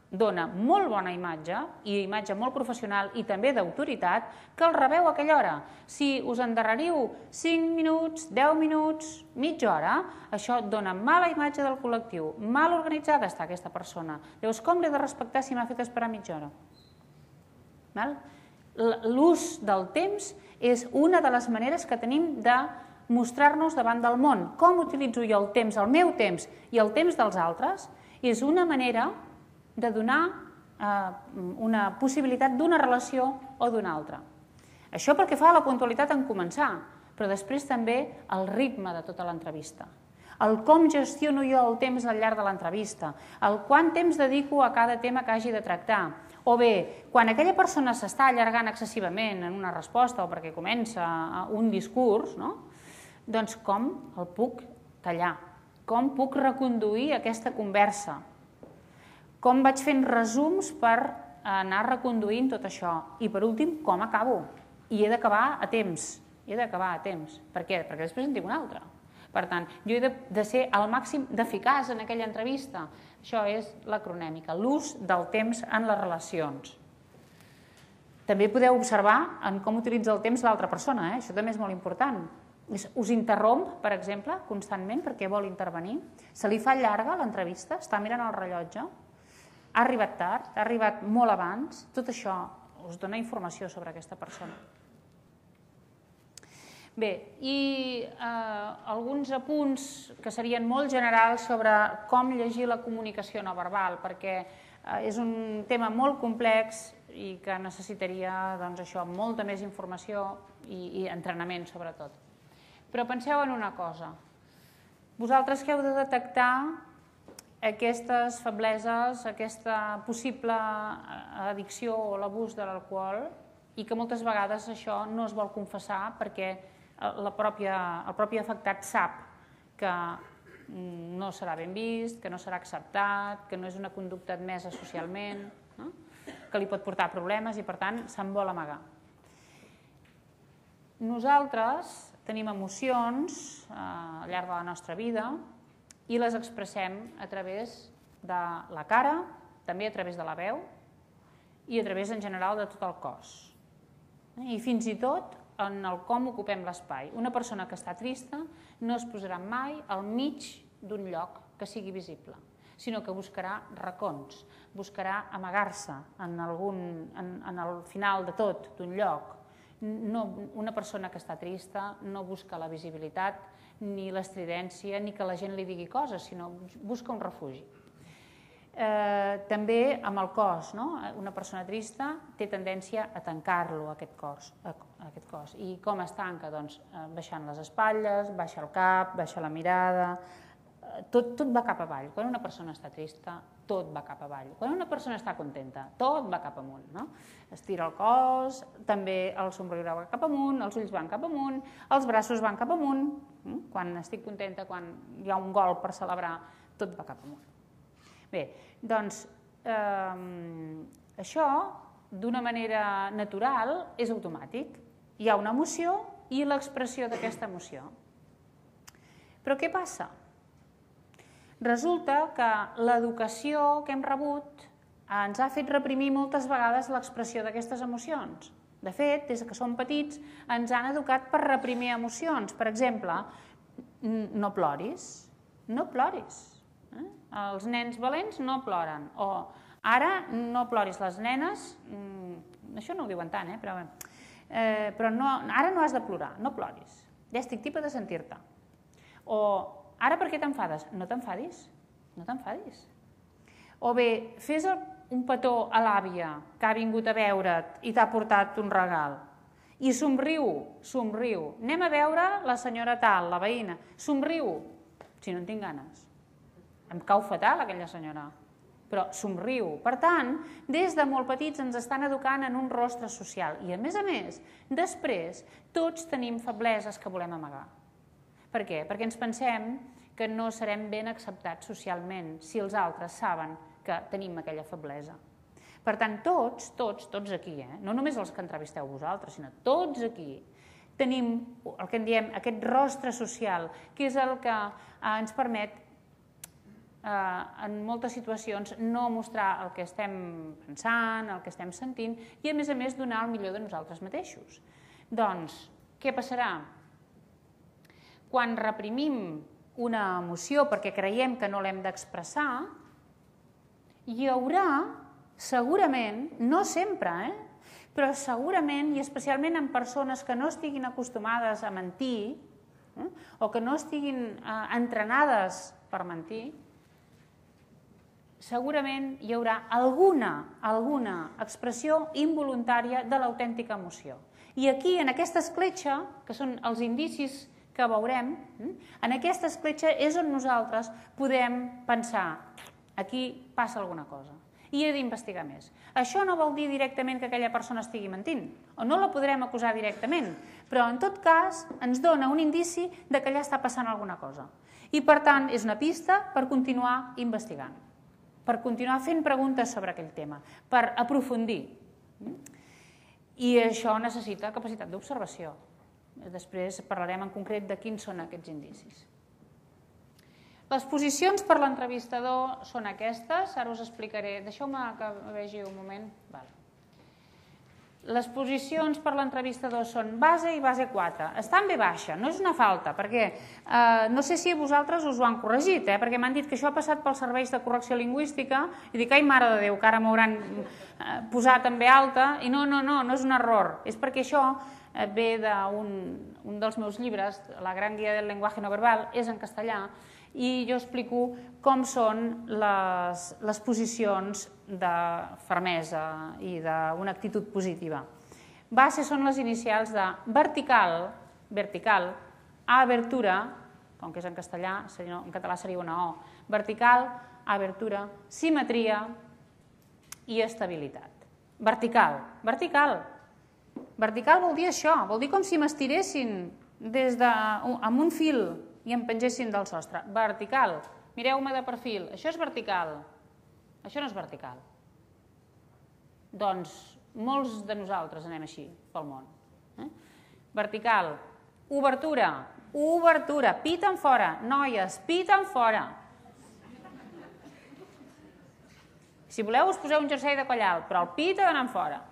dona molt bona imatge, i imatge molt professional i també d'autoritat, que el rebeu a aquella hora. Si us endarreriu 5 minuts, 10 minuts, mitja hora, això dona mala imatge del col·lectiu. Mal organitzada està aquesta persona. Llavors, com l'he de respectar si m'ha fet esperar mitja hora? L'ús del temps és una de les maneres que tenim de mostrar-nos davant del món. Com utilitzo jo el temps, el meu temps i el temps dels altres, és una manera de donar una possibilitat d'una relació o d'una altra. Això pel que fa a la puntualitat en començar, però després també el ritme de tota l'entrevista. El com gestiono jo el temps al llarg de l'entrevista, el quant temps dedico a cada tema que hagi de tractar, O bé, quan aquella persona s'està allargant excessivament en una resposta o perquè comença un discurs, doncs com el puc tallar? Com puc reconduir aquesta conversa? Com vaig fent resums per anar reconduint tot això? I per últim, com acabo? I he d'acabar a temps. Per què? Perquè després en tinc una altra. Per tant, jo he de ser al màxim d'eficaç en aquella entrevista. Això és l'acronèmica, l'ús del temps en les relacions. També podeu observar en com utilitza el temps l'altra persona, això també és molt important. Us interromp, per exemple, constantment perquè vol intervenir. Se li fa llarga l'entrevista, està mirant el rellotge, ha arribat tard, ha arribat molt abans. Tot això us dona informació sobre aquesta persona. Bé, i alguns apunts que serien molt generals sobre com llegir la comunicació no verbal, perquè és un tema molt complex i que necessitaria molta més informació i entrenament, sobretot. Però penseu en una cosa. Vosaltres que heu de detectar aquestes febleses, aquesta possible addicció o l'abús de l'alcohol i que moltes vegades això no es vol confessar perquè el propi afectat sap que no serà ben vist, que no serà acceptat, que no és una conducta admesa socialment, que li pot portar problemes i, per tant, se'n vol amagar. Nosaltres tenim emocions al llarg de la nostra vida i les expressem a través de la cara, també a través de la veu i a través, en general, de tot el cos. I fins i tot en el com ocupem l'espai. Una persona que està trista no es posarà mai al mig d'un lloc que sigui visible, sinó que buscarà racons, buscarà amagar-se en el final de tot d'un lloc. Una persona que està trista no busca la visibilitat, ni l'estridència, ni que la gent li digui coses, sinó busca un refugi. També amb el cos, una persona trista té tendència a tancar-lo, aquest cos. I com es tanca? Doncs baixant les espatlles, baixa el cap, baixa la mirada, tot va cap avall. Quan una persona està trista, tot va cap avall. Quan una persona està contenta, tot va cap amunt. Estira el cos, també el somriure va cap amunt, els ulls van cap amunt, els braços van cap amunt. Quan estic contenta, quan hi ha un gol per celebrar, tot va cap amunt. Bé, doncs això d'una manera natural és automàtic. Hi ha una emoció i l'expressió d'aquesta emoció. Però què passa? Resulta que l'educació que hem rebut ens ha fet reprimir moltes vegades l'expressió d'aquestes emocions. De fet, des que som petits ens han educat per reprimir emocions. Per exemple, no ploris, no ploris. Els nens valents no ploren. O ara no ploris, les nenes, això no ho diuen tant, però ara no has de plorar, no ploris. Ja estic tipa de sentir-te. O ara per què t'enfades? No t'enfadis, no t'enfadis. O bé, fes un petó a l'àvia que ha vingut a veure't i t'ha portat un regal. I somriu, somriu. Anem a veure la senyora tal, la veïna. Somriu, si no en tinc ganes. Em cau fatal aquella senyora, però somriu. Per tant, des de molt petits ens estan educant en un rostre social i, a més, després tots tenim febleses que volem amagar. Per què? Perquè ens pensem que no serem ben acceptats socialment si els altres saben que tenim aquella feblesa. Per tant, tots aquí, no només els que entrevisteu vosaltres, sinó tots aquí, tenim el que en diem aquest rostre social, que és el que ens permet en moltes situacions no mostrar el que estem pensant, el que estem sentint i, a més, donar el millor de nosaltres mateixos. Doncs, què passarà? Quan reprimim una emoció perquè creiem que no l'hem d'expressar, hi haurà, segurament, no sempre, però segurament, i especialment en persones que no estiguin acostumades a mentir o que no estiguin entrenades per mentir, segurament hi haurà alguna expressió involuntària de l'autèntica emoció. I aquí, en aquesta escletxa, que són els indicis que veurem, en aquesta escletxa és on nosaltres podem pensar, aquí passa alguna cosa. i he d'investigar més. Això no vol dir directament que aquella persona estigui mentint, o no la podrem acusar directament, però en tot cas ens dona un indici de que allà està passant alguna cosa. I per tant és una pista per continuar investigant, per continuar fent preguntes sobre aquell tema, per aprofundir. I això necessita capacitat d'observació. Després parlarem en concret de quins són aquests indicis. Les posicions per l'entrevistador són aquestes, ara us explicaré. Deixeu-me que vegi un moment. Les posicions per l'entrevistador són base i base 4. Està en B baixa, no és una falta, perquè no sé si vosaltres us ho han corregit, perquè m'han dit que això ha passat pels serveis de correcció lingüística i dic, ai, mare de Déu, que ara m'hauran posat en B alta, i no és un error. És perquè això ve d'un dels meus llibres, La gran guia del lenguaje no verbal, és en castellà, i jo explico com són les posicions de fermesa i d'una actitud positiva. Base són les inicials de vertical, abertura, com que és en castellà, en català seria una O, vertical, abertura, simetria i estabilitat. Vertical vol dir això, vol dir com si m'estiressin amb un fil i em pengessin del sostre. Vertical. Mireu-me de perfil. Això és vertical. Això no és vertical. Doncs molts de nosaltres anem així pel món. Vertical. Obertura. Piten fora. Noies, piten fora. Si voleu us poseu un jersei de coll alt, però el pit ha d'anar fora.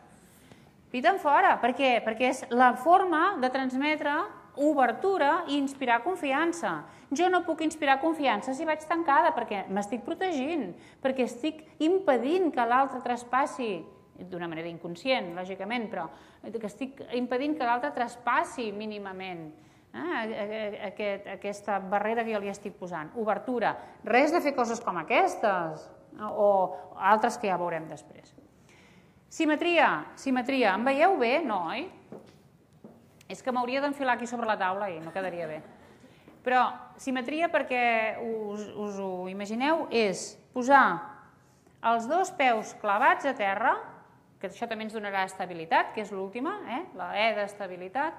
Piten fora. Per què? Perquè és la forma de transmetre obertura i inspirar confiança. Jo no puc inspirar confiança si vaig tancada, perquè m'estic protegint, perquè estic impedint que l'altre traspassi, d'una manera inconscient, lògicament, però que estic impedint que l'altre traspassi mínimament aquesta barrera que jo li estic posant. Obertura. Res de fer coses com aquestes, o altres que ja veurem després. Simetria. Em veieu bé? No, oi? És que m'hauria d'enfilar aquí sobre la taula i no quedaria bé. Però simetria, perquè us ho imagineu, és posar els dos peus clavats a terra, que això també ens donarà estabilitat, que és l'última, la E d'estabilitat,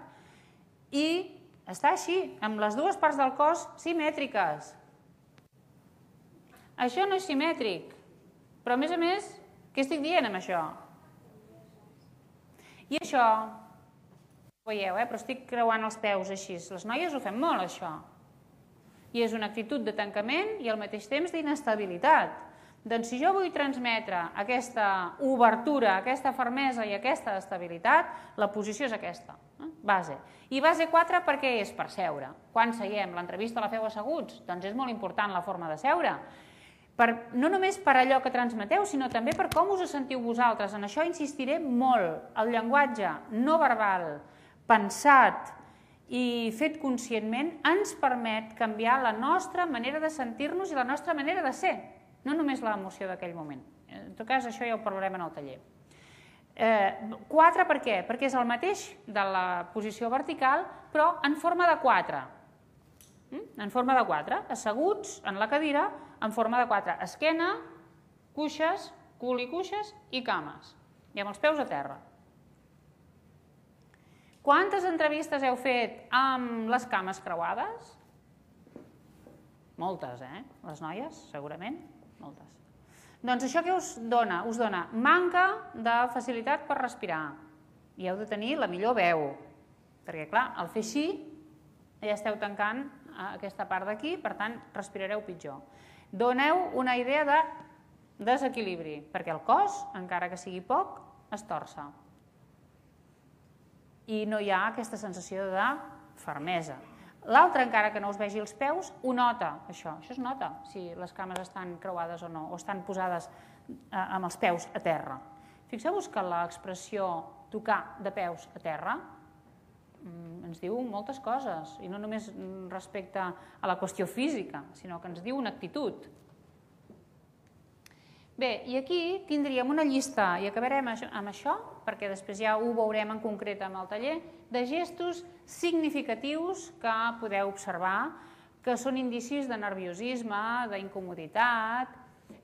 i està així, amb les dues parts del cos simètriques. Això no és simètric, però a més, què estic dient amb això? I això... veieu, però estic creuant els peus així. Les noies ho fem molt, això. I és una actitud de tancament i al mateix temps d'inestabilitat. Doncs si jo vull transmetre aquesta obertura, aquesta fermesa i aquesta estabilitat, la posició és aquesta, base. I base 4 perquè és per seure. Quan seiem? L'entrevista la feu asseguts? Doncs és molt important la forma de seure. No només per allò que transmeteu, sinó també per com us sentiu vosaltres. En això insistiré molt. El llenguatge no verbal, pensat i fet conscientment, ens permet canviar la nostra manera de sentir-nos i la nostra manera de ser, no només l'emoció d'aquell moment. En tot cas, això ja ho parlarem en el taller. 4 per què? Perquè és el mateix de la posició vertical, però en forma de 4. En forma de 4, asseguts en la cadira, en forma de 4. Esquena, cuixes, cul i cuixes i cames. I amb els peus a terra. Quantes entrevistes heu fet amb les cames creuades? Moltes, Les noies, segurament, moltes. Doncs això què us dona? Us dona manca de facilitat per respirar. I heu de tenir la millor veu. Perquè, clar, al fer així, ja esteu tancant aquesta part d'aquí, per tant, respirareu pitjor. Doneu una idea de desequilibri, perquè el cos, encara que sigui poc, es torça. I no hi ha aquesta sensació de fermesa. L'altre, encara que no us vegi els peus, ho nota, això. Això es nota, si les cames estan creuades o no, o estan posades amb els peus a terra. Fixeu-vos que l'expressió tocar de peus a terra ens diu moltes coses, i no només respecte a la qüestió física, sinó que ens diu una actitud. Bé, i aquí tindríem una llista, i acabarem amb això, perquè després ja ho veurem en concret amb el taller, de gestos significatius que podeu observar, que són indicis de nerviosisme, d'incomoditat,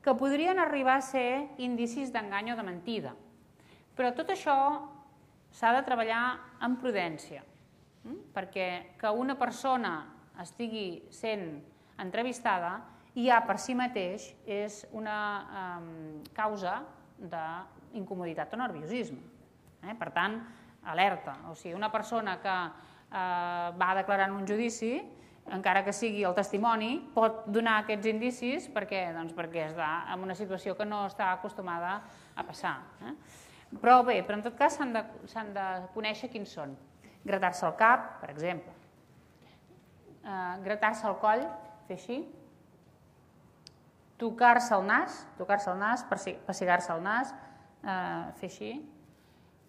que podrien arribar a ser indicis d'engany o de mentida. Però tot això s'ha de treballar amb prudència, perquè que una persona estigui sent entrevistada ja per si mateix és una causa d'incomoditat o nerviosisme. Per tant, alerta. O sigui, una persona que va declarar en un judici, encara que sigui el testimoni, pot donar aquests indicis perquè està en una situació que no està acostumada a passar. Però bé, en tot cas s'han de conèixer quins són. Gratar-se el cap, per exemple. Gratar-se el coll, fer així. Tocar-se el nas, pessigar-se el nas, fer així.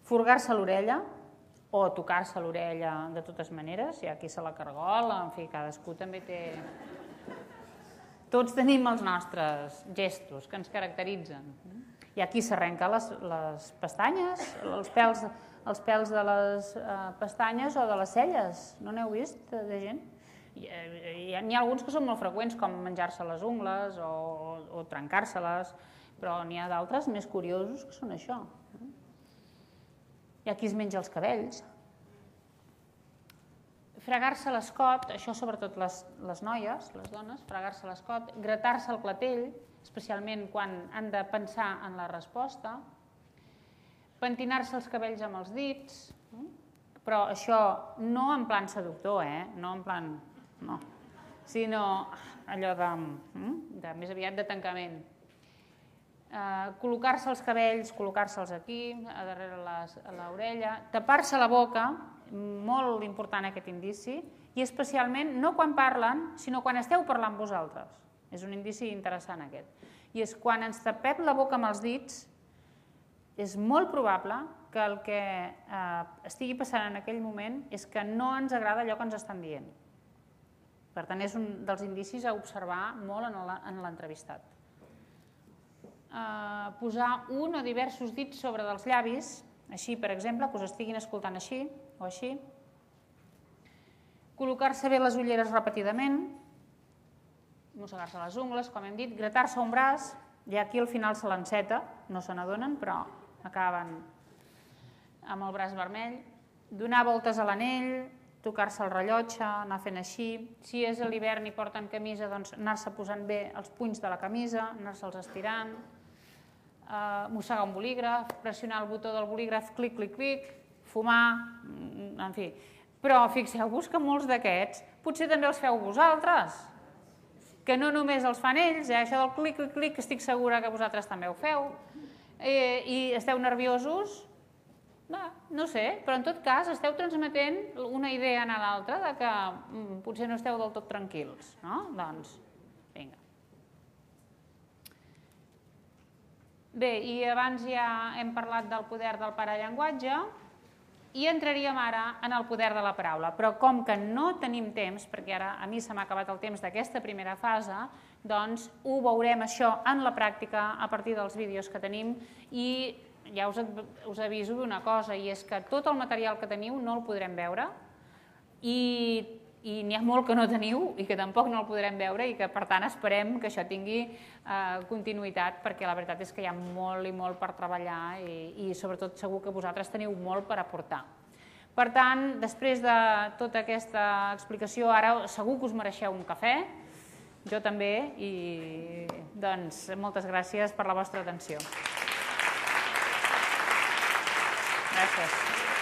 Furgar-se l'orella, o tocar-se l'orella de totes maneres, hi ha qui se la cargola, en fi, cadascú també té... Tots tenim els nostres gestos que ens caracteritzen. Hi ha qui s'arrenca les pestanyes, els pèls de les pestanyes o de les celles, no n'heu vist, de gent? N'hi ha alguns que són molt freqüents, com menjar-se les ungles o trencar-se-les, però n'hi ha d'altres més curiosos que són això. Hi ha qui es menja els cabells. Fregar-se l'escot, això sobretot les noies, les dones, fregar-se l'escot, gratar-se el clatell, especialment quan han de pensar en la resposta, pentinar-se els cabells amb els dits, però això no en plan seductor, no en plan... no, sinó allò de més aviat de tancament. Col·locar-se els cabells, col·locar-se'ls aquí, a darrere l'orella, tapar-se la boca, molt important aquest indici, i especialment no quan parlen, sinó quan esteu parlant vosaltres. És un indici interessant aquest. I és quan ens tapem la boca amb els dits, és molt probable que el que estigui passant en aquell moment és que no ens agrada allò que ens estan dient. Per tant, és un dels indicis a observar molt en l'entrevistat. Posar un o diversos dits sobre dels llavis, així, per exemple, que us estiguin escoltant així o així. Col·locar-se bé les ulleres repetidament, mossegar-se les ungles, com hem dit, gratar-se un braç, i aquí al final se l'enceta, no se n'adonen, però acaben amb el braç vermell. Donar voltes a l'anell, tocar-se el rellotge, anar fent així. Si és a l'hivern i porten camisa, doncs anar-se posant bé els punys de la camisa, anar-se'ls estirant, mossegar un bolígraf, pressionar el botó del bolígraf, clic, clic, clic, fumar, en fi. Però fixeu-vos que molts d'aquests potser també els feu vosaltres, que no només els fan ells, això del clic, clic, clic, que estic segura que vosaltres també ho feu, i esteu nerviosos, no sé, però en tot cas esteu transmetent una idea a l'altra de que potser no esteu del tot tranquils, no? Doncs, vinga. Bé, i abans ja hem parlat del poder del parallenguatge i entraríem ara en el poder de la paraula, però com que no tenim temps, perquè ara a mi se m'ha acabat el temps d'aquesta primera fase, doncs ho veurem això en la pràctica a partir dels vídeos que tenim i ja us aviso d'una cosa, i és que tot el material que teniu no el podrem veure i n'hi ha molt que no teniu i que tampoc no el podrem veure i que per tant esperem que això tingui continuïtat, perquè la veritat és que hi ha molt i molt per treballar i sobretot segur que vosaltres teniu molt per aportar. Per tant, després de tota aquesta explicació, ara segur que us mereixeu un cafè, jo també, i doncs moltes gràcies per la vostra atenció. Gràcies.